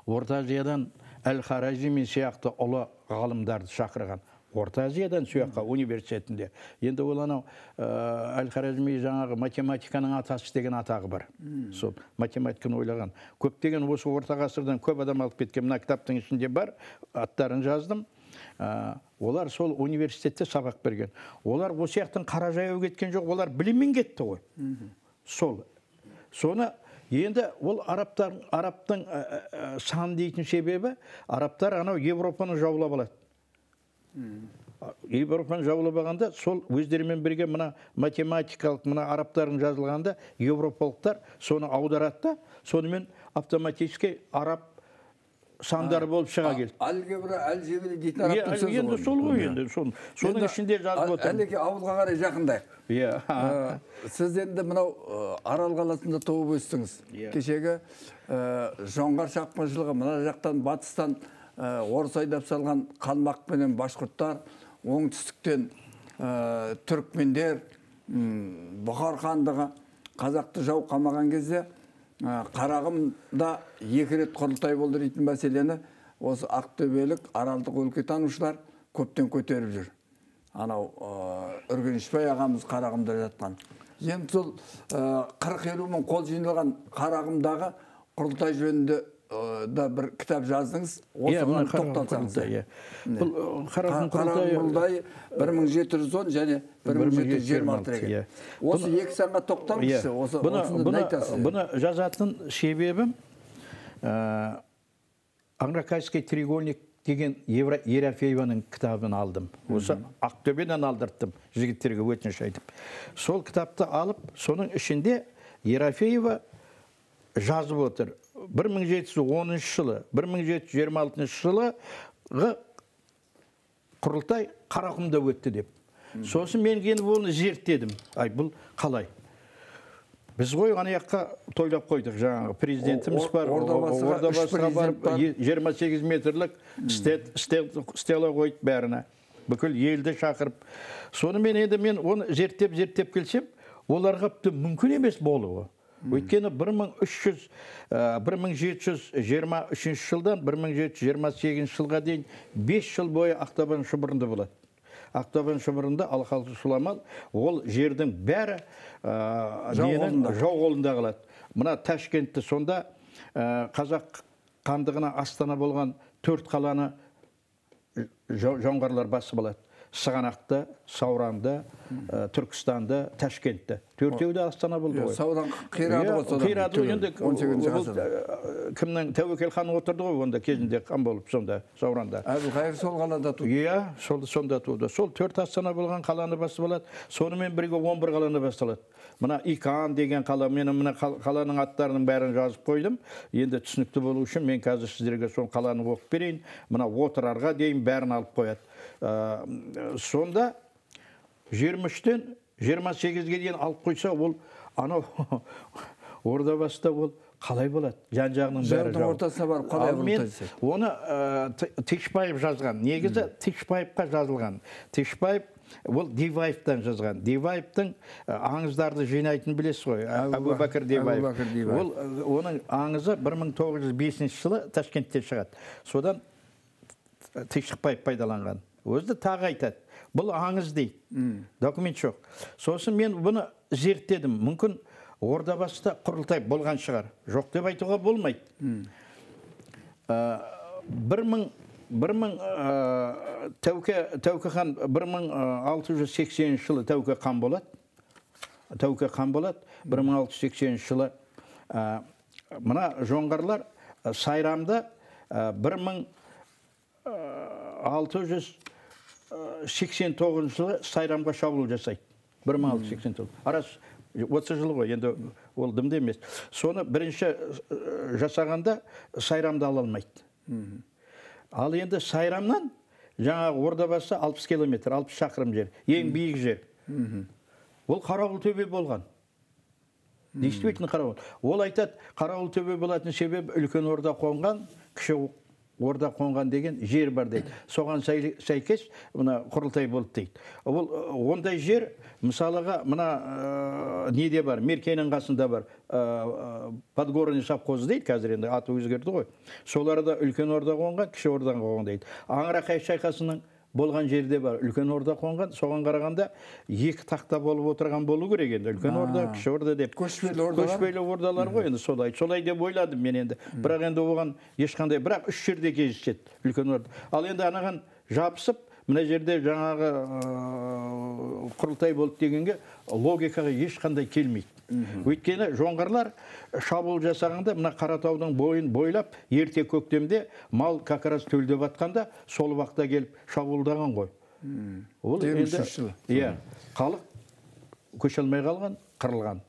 Орта Азиядан Әл-Харазими сияқты ұлы ғалымдарды шақырған. Орта Азиядан сөйаққа университетінде. Енді ол анау Әл-Харазми жаңағы математиканың атасы деген атағы бар. Сол математиканы ойлаған. Көптеген осы орта ғасырдан көп адам алып кеткен. Мына кітаптың ішінде бар, аттарын жаздым. Олар сол университетте сабақ берген. Олар осы сияқтың қара жаяу кеткен жоқ, олар біліммен кетті ғой. Сол. Соны енді ол арабтың сан дейтін себебі, арабтар анау Европаны жаулап алады. Европаны жаулап алғанда сол өздерімен бірге мына математикалық мына арабтардың жазылғанда европалықтар соны аударады да, сонымен автоматически араб сандары болып шыға келді. Алгебра, әлжебре дейтін арабтың сөзі ғой. Енді сол ғой енді. Соның ішінде жазып отыр. Әлеке ауылға қарай жақындайық. Сіз енді мынау Арал қаласында туып өстіңіз. Кешегі жоңғар шапқыншылығы мына жақтан батыстан орыс айдап салған қалмақ пенен башқұрттар, оңтүстіктен түрікмендер, Бұхар хандығы қазақты жау қамаған кезде Қарағымда 2 рет құрылтай болды дейтін мәселені осы ақтөбелік аралдық өлкетанушылар көптен көтеріп жүр. Анау Үргенішбай ағамыз Қарағымда жатқан. Енді сол 40-50 мың қол жиналған Қарағымдағы құрылтай жөнінде да бір кітап жаздыңыз, осыған тоқталсаңыз. Қарағым құрылтайы 1710 және 1726 екен. Осы 2 санға тоқталыңызшы, осыны айтасыз. Бұны жазатын себебім Аңракайский треугольник деген Ерофееваның кітабын алдым. Осы Ақтөбеден алдырттым жігіттерге өтініш айтып. Сол кітапты алып, соның ішінде Ерофеева жазып отыр. 1710 жылы, 1726 жылы құрылтай Қарақұмда өтті деп. Сосын мен келіп оны зерттедім. Бұл қалай? Біз ғой ана жаққа тойлап қойдық. Жаңағы президентіміз бар, ордабасыға барып 28 метрлік стела қойды бәріне. Бүкіл елді шақырып. Соны мен оны зерттеп келсем, оларға мүмкін емес болуы. Өйткені 1723 жылдан 1728 жылға дейін 5 жыл бойы Ақтабан шұбырында болады. Ақтабан шұбырында Алқалы Сұламал, ол жердің бәрі жау қолында қалады. Мына Ташкентті сонда қазақ хандығына астана болған 4 қаланы жоңғарлар басып алады. Сығанақта, Сауранда, Түркістанда, Ташкентте. Төртеуі де Астана болды ғой. Саудан қирады ғой содан. Қирады ғой, енді 18-ші ғасырда. кімнің Тәуекел хан отырды ғой, онда кезінде хан болып сонда, Сауранда. Әбілқайыр сол қалада туды. Иә, сонда туды. Сол 4 Астана болған қаланы басып алады. Сонымен бірге 11 қаланы басталады. Мына Икан деген қала, мен мына қаланың аттарының бәрін жазып қойдым. Енді түсінікті болу үшін мен қазір сіздерге сол қаланы оқып берейін. Мына отырарға дейін бәрін алып қояды. Сонда 23-тен 28-ге дейін алып қойса, ол анау Ордабасыда ол қалай болады? Жан-жағының бәрі жау. Ортасына барып қалай құрылтайсыз? Оны Текшбаев жазған. Негізі Текшбаевқа жазылған. Текшбаев ол Диваевтан жазған. Диваевтың аңыздарды жинайтын білесіз ғой. Әбубәкір Диваев. Ол оның аңызы 1905 жылы Ташкентте шығады. Содан Текшбаев пайдаланған. Өзді тағы айтады. Бұл аңыз дейді. Документ жоқ. Сосын мен бұны зерттедім. Мүмкін Ордабасыда құрылтай болған шығар. Жоқ деп айтуға болмайды. 1000 Тәуке хан 1680 жылы Тәуке хан болады. 1680 жылы мына жоңғарлар Сайрамда 1689 жылы Сайрамға шабуыл жасайды. 1689. Арасы 30 жыл ғой, енді ол дымды емес. Соны бірінші жасағанда Сайрамды ала алмайды. Ал енді Сайрамнан жаңағы Ордабасы 60 километр, 60 шақырым жер, ең биік жер. Ол Қарауыл төбе болған. Действительно Қарауыл. Ол айтады, Қарауыл төбе болатын себебі үлкен орда қонған, кіші орда қонған деген жер бар дейді. Соған сәйкес мына құрылтай болды дейді. Ол ондай жер, мысалыға мына неде бар, Меркенің қасында бар, Подгорный совхозы дейді, қазір енді аты өзгерді ғой. Соларда үлкен орда қонған, кіші орда қонған дейді. Аңырақай шайқасының болған жерде бар, үлкен орда қонған, соған қарағанда екі тақта болып отырған болу керек енді. Үлкен орда, кіші орда деп. Көшпелі ордалар ғой енді солай. Солай деп ойладым мен енді. Бірақ енді оған ешқандай, бірақ 3 жерде кездеседі үлкен орда. Ал енді анаған жабысып, мына жерде жаңағы құрылтай болды дегенге логикаға ешқандай келмейді. Өйткені жоңғарлар шабуыл жасағанда мына Қаратаудың бойын бойлап, ерте көктемде мал как раз төлде батқанда сол уақытта келіп шабуылдаған ғой. Ол енді халық көше алмай қалған, қырылған.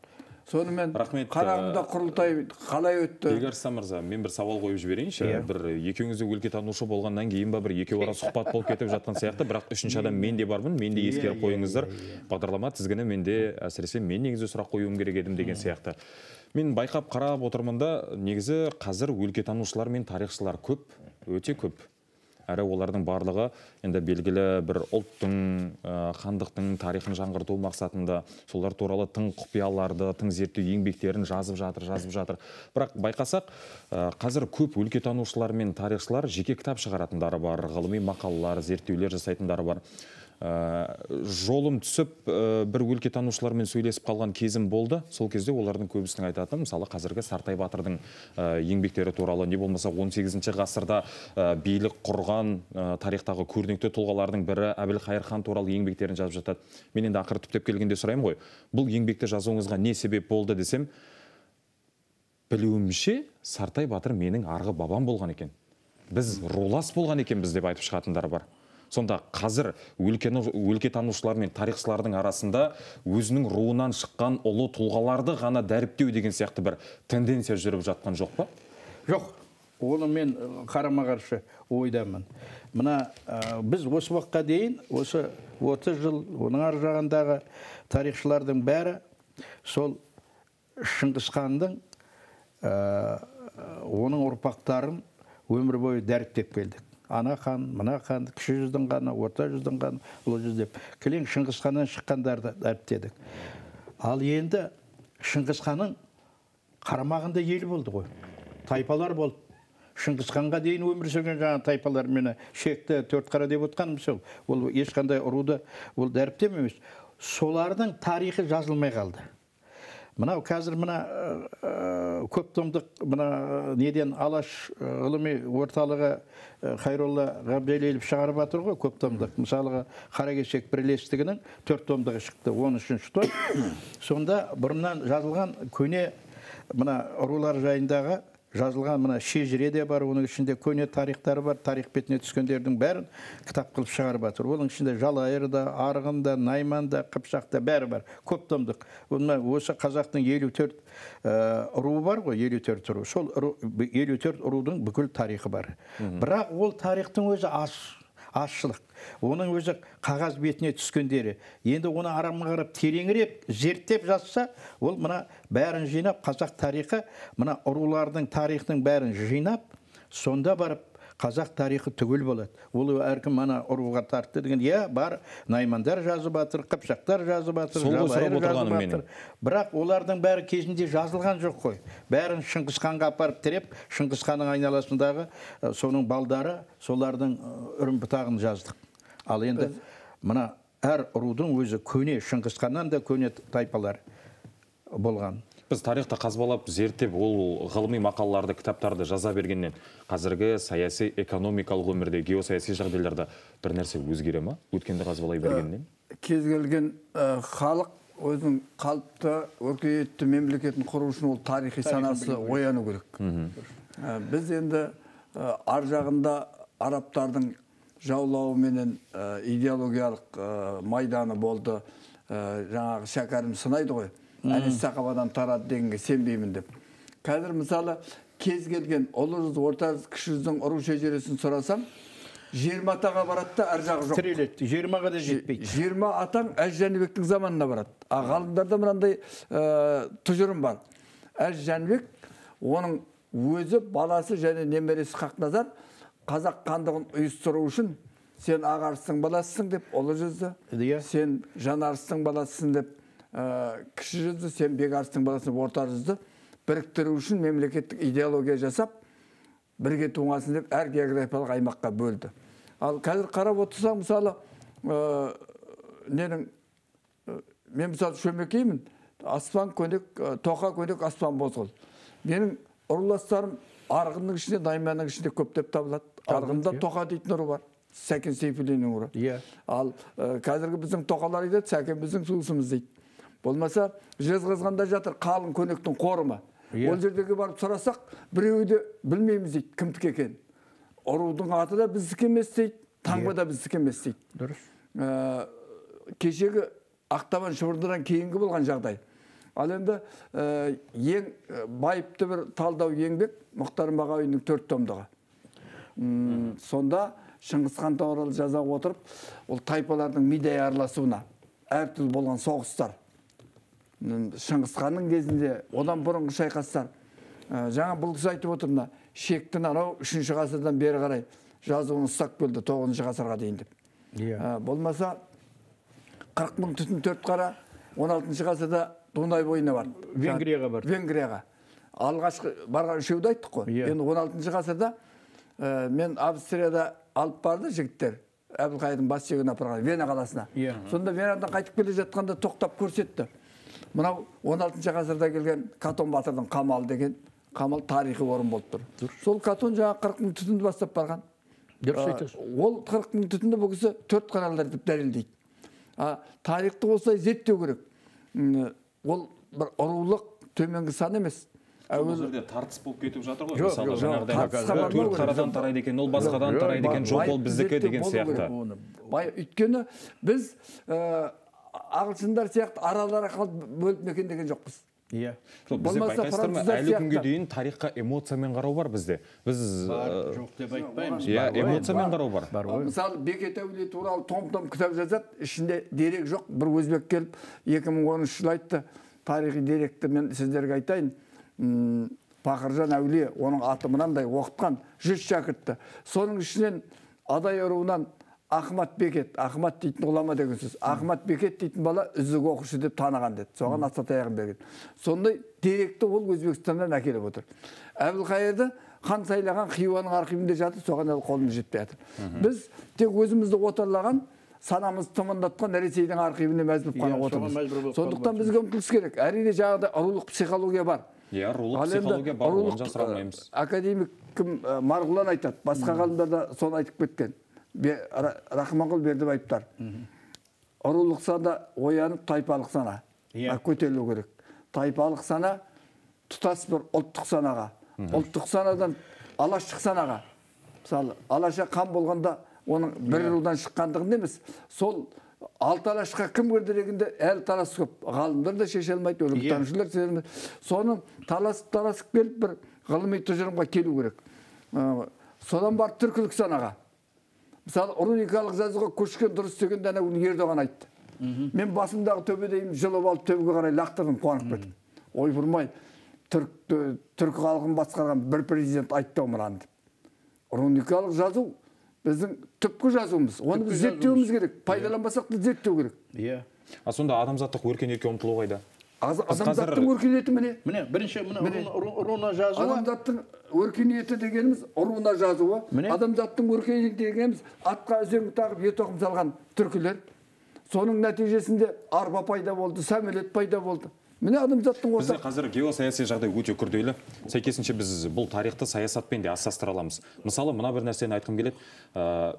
Сонымен Қарағымда құрылтай қалай өтті? Бекарыстан мырза, мен бір сауал қойып жіберейінші. Бір екеуіңізде өлкетанушы болғаннан кейін ба бір екеу ара сұхбат болып кетіп жатқан сияқты, бірақ үшінші адам мен де бармын, мен де ескеріп қойыңыздар. Бағдарлама тізгіні менде әсіресе мен негізі сұрақ қоюым керек едім деген сияқты. Мен байқап қарап отырмын да, негізі қазір өлкетанушылар мен тарихшылар көп, өте көп. Әрі олардың барлығы енді белгілі бір ұлттың, хандықтың тарихын жаңғырту мақсатында солар туралы тың құпияларды, тың зерттеу еңбектерін жазып жатыр. Бірақ байқасақ, қазір көп өлкетанушылар мен тарихшылар жеке кітап шығаратындары бар, ғылыми мақалалар, зерттеулер жасайтындары бар. Жолым түсіп бір өлкетанушылармен сөйлесіп қалған кезім болды. Сол кезде олардың көбісінің айтатыны, мысалы қазіргі Сартай батырдың еңбектері туралы, не болмаса 18-ші ғасырда билік құрған тарихтағы көрнекті тұлғалардың бірі Әбілқайыр хан туралы еңбектерін жазып жатады. Мен енді ақыры түптеп келгенде сұраймын ғой, бұл еңбекті жазуыңызға не себеп болды десем, білуімше Сартай батыр менің арғы бабам болған екен. Біз рулас болған екенбіз деп айтып шығатындары бар. Сонда қазір өлкетанушылар мен тарихшылардың арасында өзінің руынан шыққан ұлы тұлғаларды ғана дәріптеу деген сияқты бір тенденция жүріп жатқан жоқ па? Жоқ. Оны мен қарама-қарсы ойдамын. Мына біз осы уақытқа дейін, осы 30 жыл, оның ар жағындағы тарихшылардың бәрі сол Шыңғыс ханның оның ұрпақтарын өмір бойы дәріптеп келдік. Ана хан, мына хан, кіші жүздің қаны, орта жүздің қаны, ұлы жүз деп. Кілең Шыңғыс ханнан шыққандарды дәріптедік. Ал енді Шыңғыс ханның қарамағында ел болды ғой. Тайпалар болды. Шыңғыс ханға дейін өмір сүрген жаңа тайпалар мені шекті, төртқара деп отқаным сол. Ол ешқандай ұруды ол дәріптем емес. Солардың тарихы жазылмай қалды. Мынау қазір мына көп томдық мына неден Алаш ғылыми орталығы Хайролла Ғабделелов шығарып жатыр ғой, көп томдық. Мысалға Қаракесек бірлестігінің 4 томдығы шықты, 13-ші том. Сонда бұрыннан жазылған көне мына ұрулар жайындағы жазылған мына шежіре де бар, оның ішінде көне тарихтары бар, тарих бетіне түскендердің бәрін кітап қылып шығарып жатыр. Оның ішінде Жалайыр да, Арғын да, Найман да, Қыпшақ та бәрі бар. Көп томдық. Осы қазақтың 54 ұруы бар ғой, 54 ұру. Сол 54 ұрудың бүкіл тарихы бар. Бірақ ол тарихтың өзі азшылық. Оның өзі қағаз бетіне түскендері. Енді оны арамға қарап тереңірек зерттеп жазса, ол мына бәрін жинап, қазақ тарихы, мына ұрулардың тарихының бәрін жинап, сонда барып қазақ тарихы түгел болады. Ол әркім мана ұруға тартты деген, бар, Наймандар жазып жатыр, Қыпшақтар жазып жатыр, Жалайыр жазып жатыр. Бірақ олардың бәрі кезінде жазылған жоқ қой. Бәрін Шыңғысханға апарып тіреп, Шыңғысханның айналасындағы соның балдары, солардың үрім бұтағын жаздық. Ал енді мына әр ұрудың өзі көне, Шыңғысханнан да көне тайпалар болған. Біз тарихты қазбалап, зерттеп, ол ғылыми мақалаларды, кітаптарды жаза бергеннен қазіргі саяси, экономикалық өмірде, геосаяси жағдайларда бір нәрсе өзгере ма? Өткенді қазбалай бергеннен? Кез келген халық өзінің қалыпты, өркениетті мемлекетін құру үшін ол тарихи санасы ояну керек. Біз енді ар жағында арабтардың жаулауыменен идеологиялық майданы болды. Жаңағы шәкәрім сынайды ғой. Әнес Сақабадан тарады дегенге сенбеймін деп. Қазір мысалы кез келген ұлы жүз, орта жүз, кіші жүздің ұру шежіресін сұрасам, 20 атаға барады да әр жағы жоқ. Тіреледі, 20-ға да жетпейді. 20 атаң Әз Жәнібектің заманына барады. Ғалымдарда мынандай тұжырым бар. Әз Жәнібек, оның өзі, баласы және немересі Хақназар қазақ хандығын ұйыстыру үшін сен Ағарыстың баласысың деп ұлы жүзді, сен Жанарыстың баласысың деп кіші жүзді, сен Бекарыстың баласын орта жүзді біріктіру үшін мемлекеттік идеология жасап, бірге туғасын деп әр географиялық аймаққа бөлді. Ал қазір қарап отырсаң, мысалы, мен мысалы Шөмекеймін, аспан көнек, тоқа көнек, аспан бозғыл. Менің ұрыластарым Арғынның ішінде, Найманның ішінде көптеп табылады. Арғында тоқа дейтін ұры бар. Сәкен Сейфуллиннің ұры. Ал қазіргі біздің тоқалар айтады, Сәкен біздің туысымыз дейді. Болмаса, Жезқазғанда жатыр қалың көнектің қорымы. Ол жердегі барып сұрасақ, біреуі де білмейміз дейді, кімдікі екен. Ұрудың аты да біздікі емес дейді, таңба да біздікі емес дейді. Дұрыс. Кешегі Ақтабан Шыбырдыдан кейінгі болған жағдай. Ал енді ең байыпты бір талдау еңбек Мұхтар Мағауиннің 4 томдығы. Сонда Шыңғысхан туралы жаза отырып, ол тайпалардың мидай араласуына, әртүрлі болған соғыстар, Шыңғысханның кезінде, одан бұрынғы шайқастар, жаңа бұл кісі айтып отырмына, шектің анау 3-ші ғасырдан бері қарай жазуын ұстап келді 9-ші ғасырға дейін деп. Болмаса 40 мың түтін 4 қара 16-ші ғасырда Дунай бойына барды. Венгрияға барды. Венгрияға. Алғашқы барған үшеуді айттық қой. Енді 16-ші ғасырда мен Австрияда алып барды жігіттер. Әбілқайырдың бас сүйегін апарған Вена қаласына. Сонда Венадан қайтып келе жатқанда тоқтап көрсетті. Мынау 16-ші ғасырда келген Катон батырдың қамалы деген қамал тарихи орын болып тұр. Сол Катон жаңа 40 мың түтінді бастап барған. Ол 40 мың түтінді бұл кісі 4 қаралдар деп дәлелдейді. Тарихты осылай зерттеу керек. Ол бір ұрулық төменгі сан емес. Ол жерде тартыс болып кетіп жатыр ғой. Мысалы, жаңағыдай 4 қарадан тарайды екен, ол басқадан тарайды екен, жоқ ол біздікі деген сияқты. Өйткені біз ағылшындар сияқты аралары қалып бөліп мекендеген жоқпыз. Бізде байқайсыздар ма, әлі күнге дейін тарихқа эмоциямен қарау бар бізде. Біз жоқ деп айтпаймыз. Эмоциямен қарау бар. Мысалы, Бекет Әулие туралы том-том кітап жазады, ішінде дерек жоқ. Бір өзбек келіп 2013 жылы айтты, тарихи деректі мен сіздерге айтайын. Пақыржан Әулие, оның аты мынандай оқытқан 100 шәкіртті. Соның ішінен Адай руынан Ахмат Бекет, Ахмат дейтін ғұлама деген сөз. Ахмат Бекет дейтін бала үздік оқушы деп таныған деді. Соған аса-таяғын берген. Сондай деректі ол Өзбекстаннан әкеліп отыр. Әбілқайырды хан сайлаған Хиуаның архивінде жатыр, соған қолымыз жетпей жатыр. Біз тек өзімізді отарлаған санамыз тымындатқан Ресейдің архивіне мәз болып қана отырмыз. Сондықтан бізге ұмтылыс керек. Әрине жағында рулық психология бар. Иә, рулық психология бар, оны жасыра алмаймыз. Академик Марғұлан айтады, басқа ғалымдар да соны айтып кеткен. Рахманқұл Бердібаевтар. Рулық сана оянып, тайпалық сана көтерілу керек. Тайпалық сана тұтас бір ұлттық санаға, ұлттық санадан алаштық санаға. Мысалы, алаша қан болғанда оның бір рудан шыққандығын емес, сол алты алашқа кім кірдірегінде әлі талас көп. Ғалымдар да шеше алмайды, өлімтанушылар шеше алмайды. Соны таласып келіп бір ғылыми тұжырымға келу керек. Содан бар түркілік санаға. Мысалы, руникалық жазуға көшкен дұрыс дегенде Ердоған айтты. Мен басымдағы төбедейім жылып алып төбеге қарай лақтырдым, қуанып кеттім. Ой бұрмай, түркі халқын басқарған бір президент айтты омыраны. Руникалық жазу біздің түпкі жазуымыз. Оны біз зерттеуіміз керек. Пайдаланбасақ та зерттеу керек. Иә. Сонда адамзаттық өркениетке ұмтылу қайда? Адамзаттың өркениеті міне. Міне, бірінші руна жазуы. Адамзаттың өркениеті дегеніміз руна жазуы. Адамзаттың өркениеті дегеніміз атқа үзеңгі тағып ет тоқым салған түркілер. Соның нәтижесінде арба пайда болды, самолет пайда болды. Міне адамзаттың Бізде қазір геосаяси жағдай өте күрделі. Сәйкесінше біз бұл тарихты саясатпен де астастыра аламыз. Мысалы, мына бір нәрсені айтқым келеді.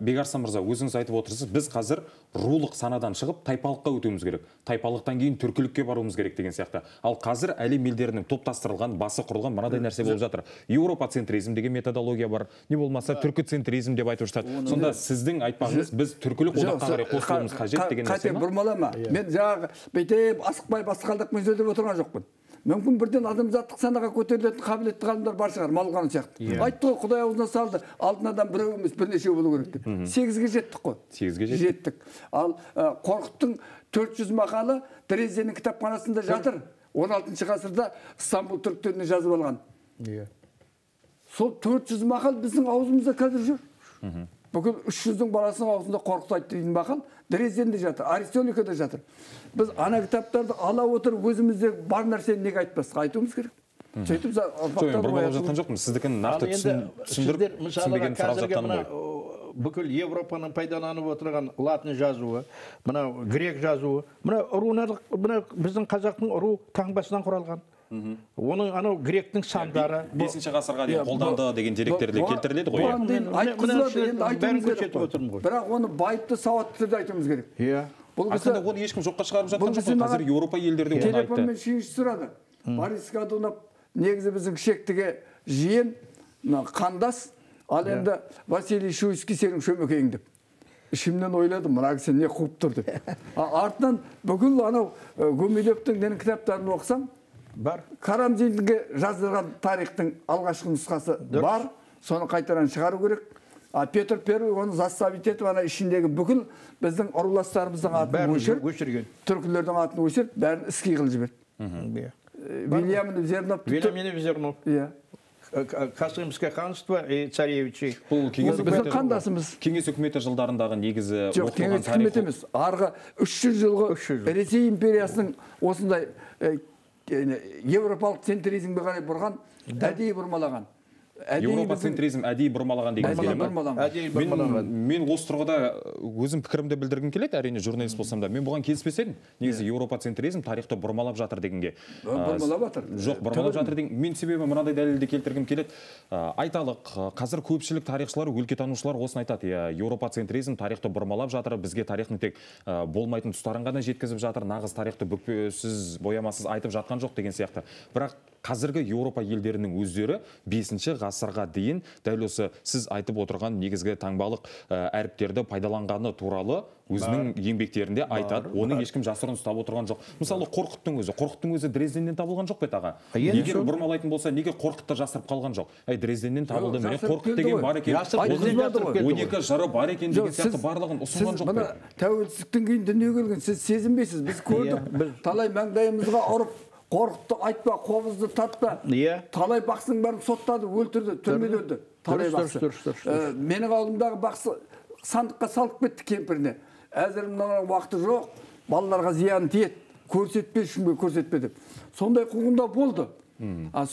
Бекарыстан мырза, өзіңіз айтып отырсыз, біз қазір рулық санадан шығып тайпалыққа өтуіміз керек. Тайпалықтан кейін түркілікке баруымыз керек деген сияқты. Ал қазір әлем елдерінің топтастырылған, басы құрылған мынадай нәрсе болып жатыр. Еуропа-центризм деген методология бар. Не болмаса түркі-центризм деп айтып жатады. Сонда сіздің айтпағыңыз, біз түркілік одаққа қарай қосылуымыз қажет деген нәрсе ма? Бұрмалама. Мен жаңағы бүйтіп асықпай басқалдықпен сөйлеп отырған жоқпын. Мүмкін бірден адамзаттық санаға көтерілетін қабілетті ғалымдар бар шығар, Малғаны сияқты. Айтты ғой, Құдай аузына салды, алтын адам біреу емес, бірнешеу болу керек деп. 8-ге жеттік қой. 8-ге жеттік. Ал Қорқыттың 400 мақалы Дрезденнің кітапханасында жатыр. 16 ғасырда Стамбул түріктеріне жазып алған. Сол 400 мақал біздің аузымызда қазір жүр. Бүкіл 300-дің баласының аузында Қорқыт айтты деген мақал Дрезденде жатыр, Аристоликада жатыр. Біз ана кітаптарды ала отырып өзімізде бар нәрсені неге айтпасқа айтуымыз керек. Сөйтіп бұрмалап жатқан жоқпын. Сіздікін нақты түсіндіріп түсінбеген сұрап жатқаным ғой. Бүкіл Европаның пайдаланып отырған латын жазуы, мына грек жазуы, мына біздің қазақтың ру таңбасынан құралған. Оның анау гректің сандары 5-ші ғасырға дейін қолданды деген деректерде келтіріледі ғой. Бірақ оны байыпты сауатты түрде айтуымыз керек. Аслында оны ешкім жоққа шығарып жатқан жоқ. Қазір Еуропа елдерде оны айтты. Телефонмен шүйінші сұрады. Борис Годунов негізі біздің шектіге жиен, қандас, ал енді Василий Шуйский сенің шөмекейің деп. Ішімнен ойладым, мына кісі не қуып тұр деп. Артынан бүкіл анау Гумилевтің кітаптарын оқысам, бар. Карамзинге жазылған тарихтың алғашқы нұсқасы бар. Соны қайтаран шығару керек. Петр Первый оны заставить етіп, ана ішіндегі бүкіл біздің ұрыластарымыздың атын өшіріп, түркілердің атын өшіріп, бәрін іске қылып жіберді. Вильям Зернов. Касымское ханство и царевичи. Бұл кеңес үкіметі жылдарындағы негізі оқылған тарихы. Жоқ, кеңес үкіметі емес. Арғы 300 жылғы Ресей империясының осындай Европалық центризмге қарай бұрған, әдейі бұрмалаған. Еуропа центризм әдейі бұрмалаған деген келе. Мен осы тұрғыда өзім пікірімді білдіргім келеді, әрине журналист болсам да. Мен бұған келіспес едім. Негізі Еуропа центризм тарихты бұрмалап жатыр дегенге. Бұрмалап жатыр. Жоқ, бұрмалап жатыр деген. Мен себебі мынадай дәлелді келтіргім келеді. Айталық, қазір көпшілік тарихшылар, өлкетанушылар осыны айтады. Еуропа центризм тарихты бұрмалап жатыр, бізге тарихтың тек болмайтын тұстарын ғана жеткізіп жатыр, нағыз тарихты бүкпесіз, боямасыз айтып жатқан жоқ деген сияқты. Бірақ қазіргі Еуропа елдерінің өздері 5-ші ғасырға дейін дәл осы сіз айтып отырған негізгі таңбалық әріптерді пайдаланғаны туралы өзінің еңбектерінде айтады. Оны ешкім жасырын ұстап отырған жоқ. Мысалы, Қорқыттың өзі Дрезденнен табылған жоқ бет аға. Егер бұрмалайтын болса, неге Қорқытты жасырып қалған жоқ? Дрезденнен табылды, міне Қорқыт деген бар екен. 12 жыры бар екен деген сияқты барлығын ұсынған жоқ бе? Тәуелсіздіктен кейін дүниеге келген, сіз сезінбейсіз, біз көрдік. Талай маңдайымызға ұрып, Қорқытты айтпа, қобызды татпа. Талай бақсының бәрін соттады, өлтірді, түрмеде өлді. Талай бақсы. Менің ауылымдағы бақсы сандыққа салып кетті кемпіріне. Әзірімнің уақыты жоқ, балаларға зиян тиеді. Көрсетпе, ешкімге көрсетпе деп. Сондай қуғында болды.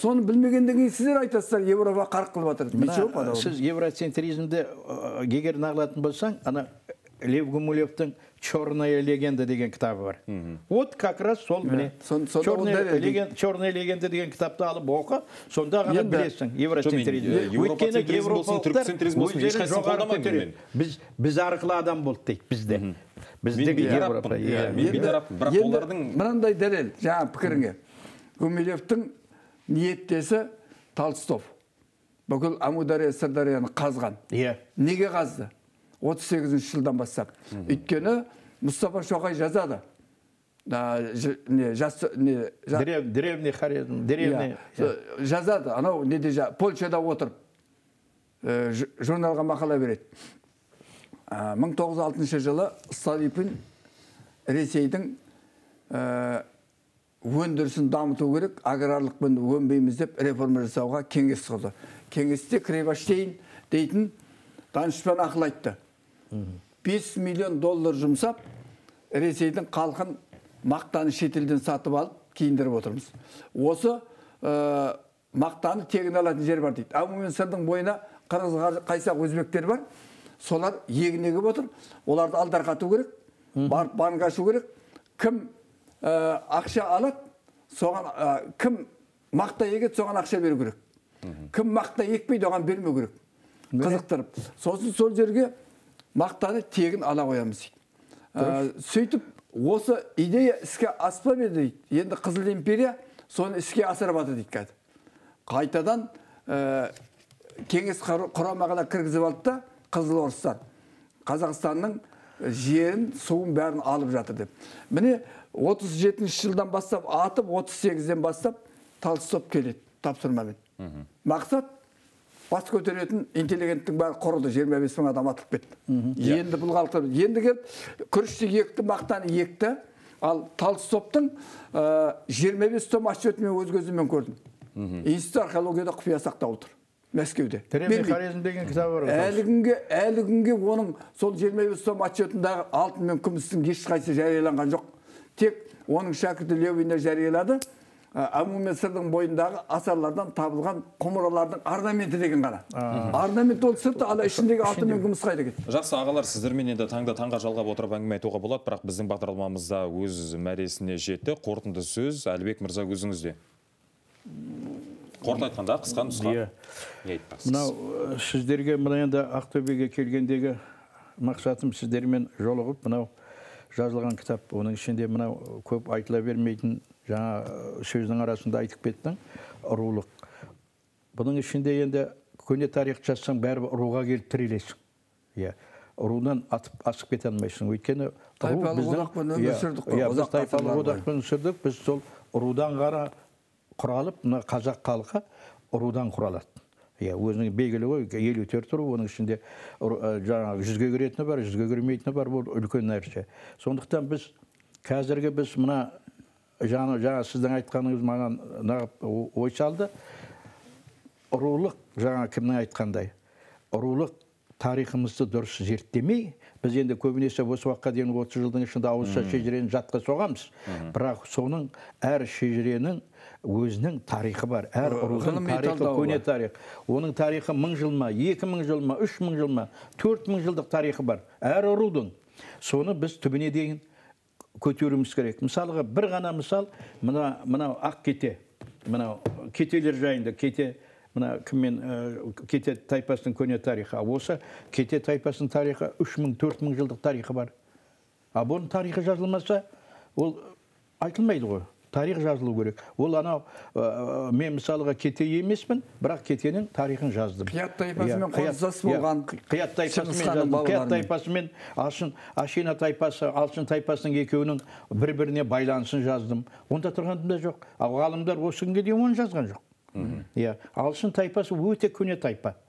Соны білмегенден кейін сіздер айтасыздар, Еуропа қарық қылып жатыр. Сіз евроцентризмді егер нағылатын болсаң, ана Лев Гумилевтің «Черная легенда» деген кітабы бар. Вот как раз сол міне. «Черная легенда» деген кітапты алып оқы, сонда ғана білесің. Европацентризм болсын, түркцентризм болсын, ешқайсысын қолдамаймын мен. Біз арқылы адам болды дейді, бізде. Біздегі Европа. Бірақ олардың... Мынандай дәлел, жаңа пікіріңе. Гумилевтің ниеттесі Толстов. Бүкіл Амудария, Сырдарияны қазған. Неге қазды? 38 жылдан бастап. Өйткені Мұстафа Шоқай жазады. Древний хорезм, древний... Жазады, анау Польшада отырып, журналға мақала береді. 1906 жылы Столыпин Ресейдің өндірісін дамыту керек, аграрлықпен өнбейміз деп реформа жасауға кеңес құрды. Кеңесте Кривоштейн дейтін данышпан ақыл айтты. 5 миллион доллар жұмсап, Ресейдің қалқын мақтаны шетелден сатып алып, кейіндіріп отырмыз. Осы мақтаны тегін алатын жер бар дейді. Амумен сырдың бойына қырғыз қайсақ өзбектер бар. Солар егін егіп отыр. Оларды алдарқату керек, барып банк ашу керек. Кім ақша алады, соған кім мақта егеді, соған ақша беру керек. Кім мақта екпейді, оған бермеу керек. Қызықтырып. Сосын сол жерге мақтаны тегін ала қоямыз дейді. Сөйтіп, осы идея іске аспап еді дейді. Енді Қызыл империя соны іске асырып аты дейді. Қайтадан кеңес құрамағына кіргізіп алды да, Қызыл орыстар Қазақстанның жерін, суын бәрін алып жатыр деп. Міне 37 жылдан бастап атып, 38-ден бастап Толстов келеді тапсырмамен. Мақсат бас көтеретін интеллигенттің бәрі құрыды, 25 мың адам атып кетті. Енді бұл қалықтыр. Енді келіп күрішті екті, мақтаны екті. Ал Толстовтың 25 том отчетын мен өз көзіммен көрдім. Институт археологияда құпия сақтап отыр. Мәскеуде. Древний хорезм деген кітабы бар. Әлі күнге оның сол 25 том отчетындағы алтын мен күмістің ешқайсысы жарияланған жоқ. Тек оның шәкірті Левина жариялады. Амумен сырдың бойындағы асарлардан табылған құмыралардың орнаменті деген ғана. Орнамент ол сырты, ал ішіндегі алтын мен күміс қайда кетті. Жақсы ағалар, сіздермен енді таңға жалғап отырып әңгіме айтуға болады, бірақ біздің бағдарламамызда өз мәресіне жетті. Қорытынды сөз Әлібек мырза өзіңізде. Қорыта айтқанда қысқа нұсқа. Мынау сіздерге мына енді Ақтөбеге келгендегі мақсатым сіздермен жолығып, мынау жазылған кітап, оның ішінде мынау көп айтыла бермейтін жаңа сөздің арасында айтып кеттің, рулық. Бұның ішінде енді көне тарих жазсаң, бәрі руға келіп тірелесің. Рудан асып кете алмайсың. Өйткені тайпалық одақпен өмір сүрдік қой. Біз тайпалық одақпен сүрдік, біз сол рудан ғана құралып, мына қазақ халқы рудан құралады. Өзінің белгілі ғой, 54 ру, оның ішінде жаңағы 100-ге кіретіні бар, 100-ге кірмейтіні бар, бұл үлкен нәрсе. Сондықтан біз қазіргі біз мына жаңа сіздің айтқаныңыз маған ой салды. Рулық, жаңа кімнің айтқандай, рулық тарихымызды дұрыс зерттемей, біз енді көбінесе осы уақытқа дейін 30 жылдың ішінде ауызша шежірені жатқа соғамыз. Бірақ соның әр шежіренің өзінің тарихы бар. Әр рудың тарихы көне тарих. Оның тарихы 1000 жыл ма, 2000 жыл ма, 3000 жыл ма, 4000 жылдық тарихы бар. Әр рудың. Соны біз түбіне дейін көтеруіміз керек. Мысалға бір ғана мысал, мынау ақ кете, мынау кетелер жайында, кете, мына кіммен кете тайпасының көне тарихы. Осы кете тайпасының тарихы 3000-4000 жылдық тарихы бар. Бұның тарихы жазылмаса, ол айтылмайды ғой. Тарих жазылу керек. Ол анау, мен мысалға кете емеспін, бірақ кетенің тарихын жаздым. Қият тайпасымен қоздас болған. Қият тайпасымен Ашина тайпасы, Алшын тайпасының екеуінің бір-біріне байланысын жаздым. Онда тұрғандым да жоқ. Ғалымдар осы күнге дейін оны жазған жоқ. Алшын тайпасы өте көне тайпа.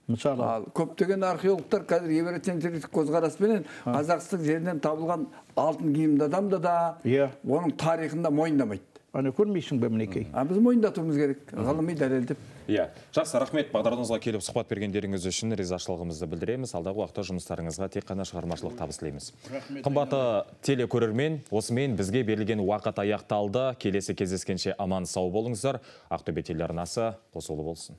Мысалы, көптеген археологтар қазір евроцентристік көзқараспенен Қазақстан жерінен табылған алтын киімді адамды да оның тарихында мойындамайды. Аны көрмейсің бе мінекей? Біз мойындатуымыз керек, ғылыми дәлелдеп. Жақсы, рахмет, бағдарымызға келіп сұхбат бергендеріңіз үшін ризашылығымызды білдіреміз. Алдағы уақытта жұмыстарыңызға тек қана шығармашылық табыс тілейміз. Қымбатты телекөрермен, осымен бізге берілген уақыт аяқталды. Келесі кездескенше аман сау болыңыздар. Ақтөбе телеарнасы қосулы болсын.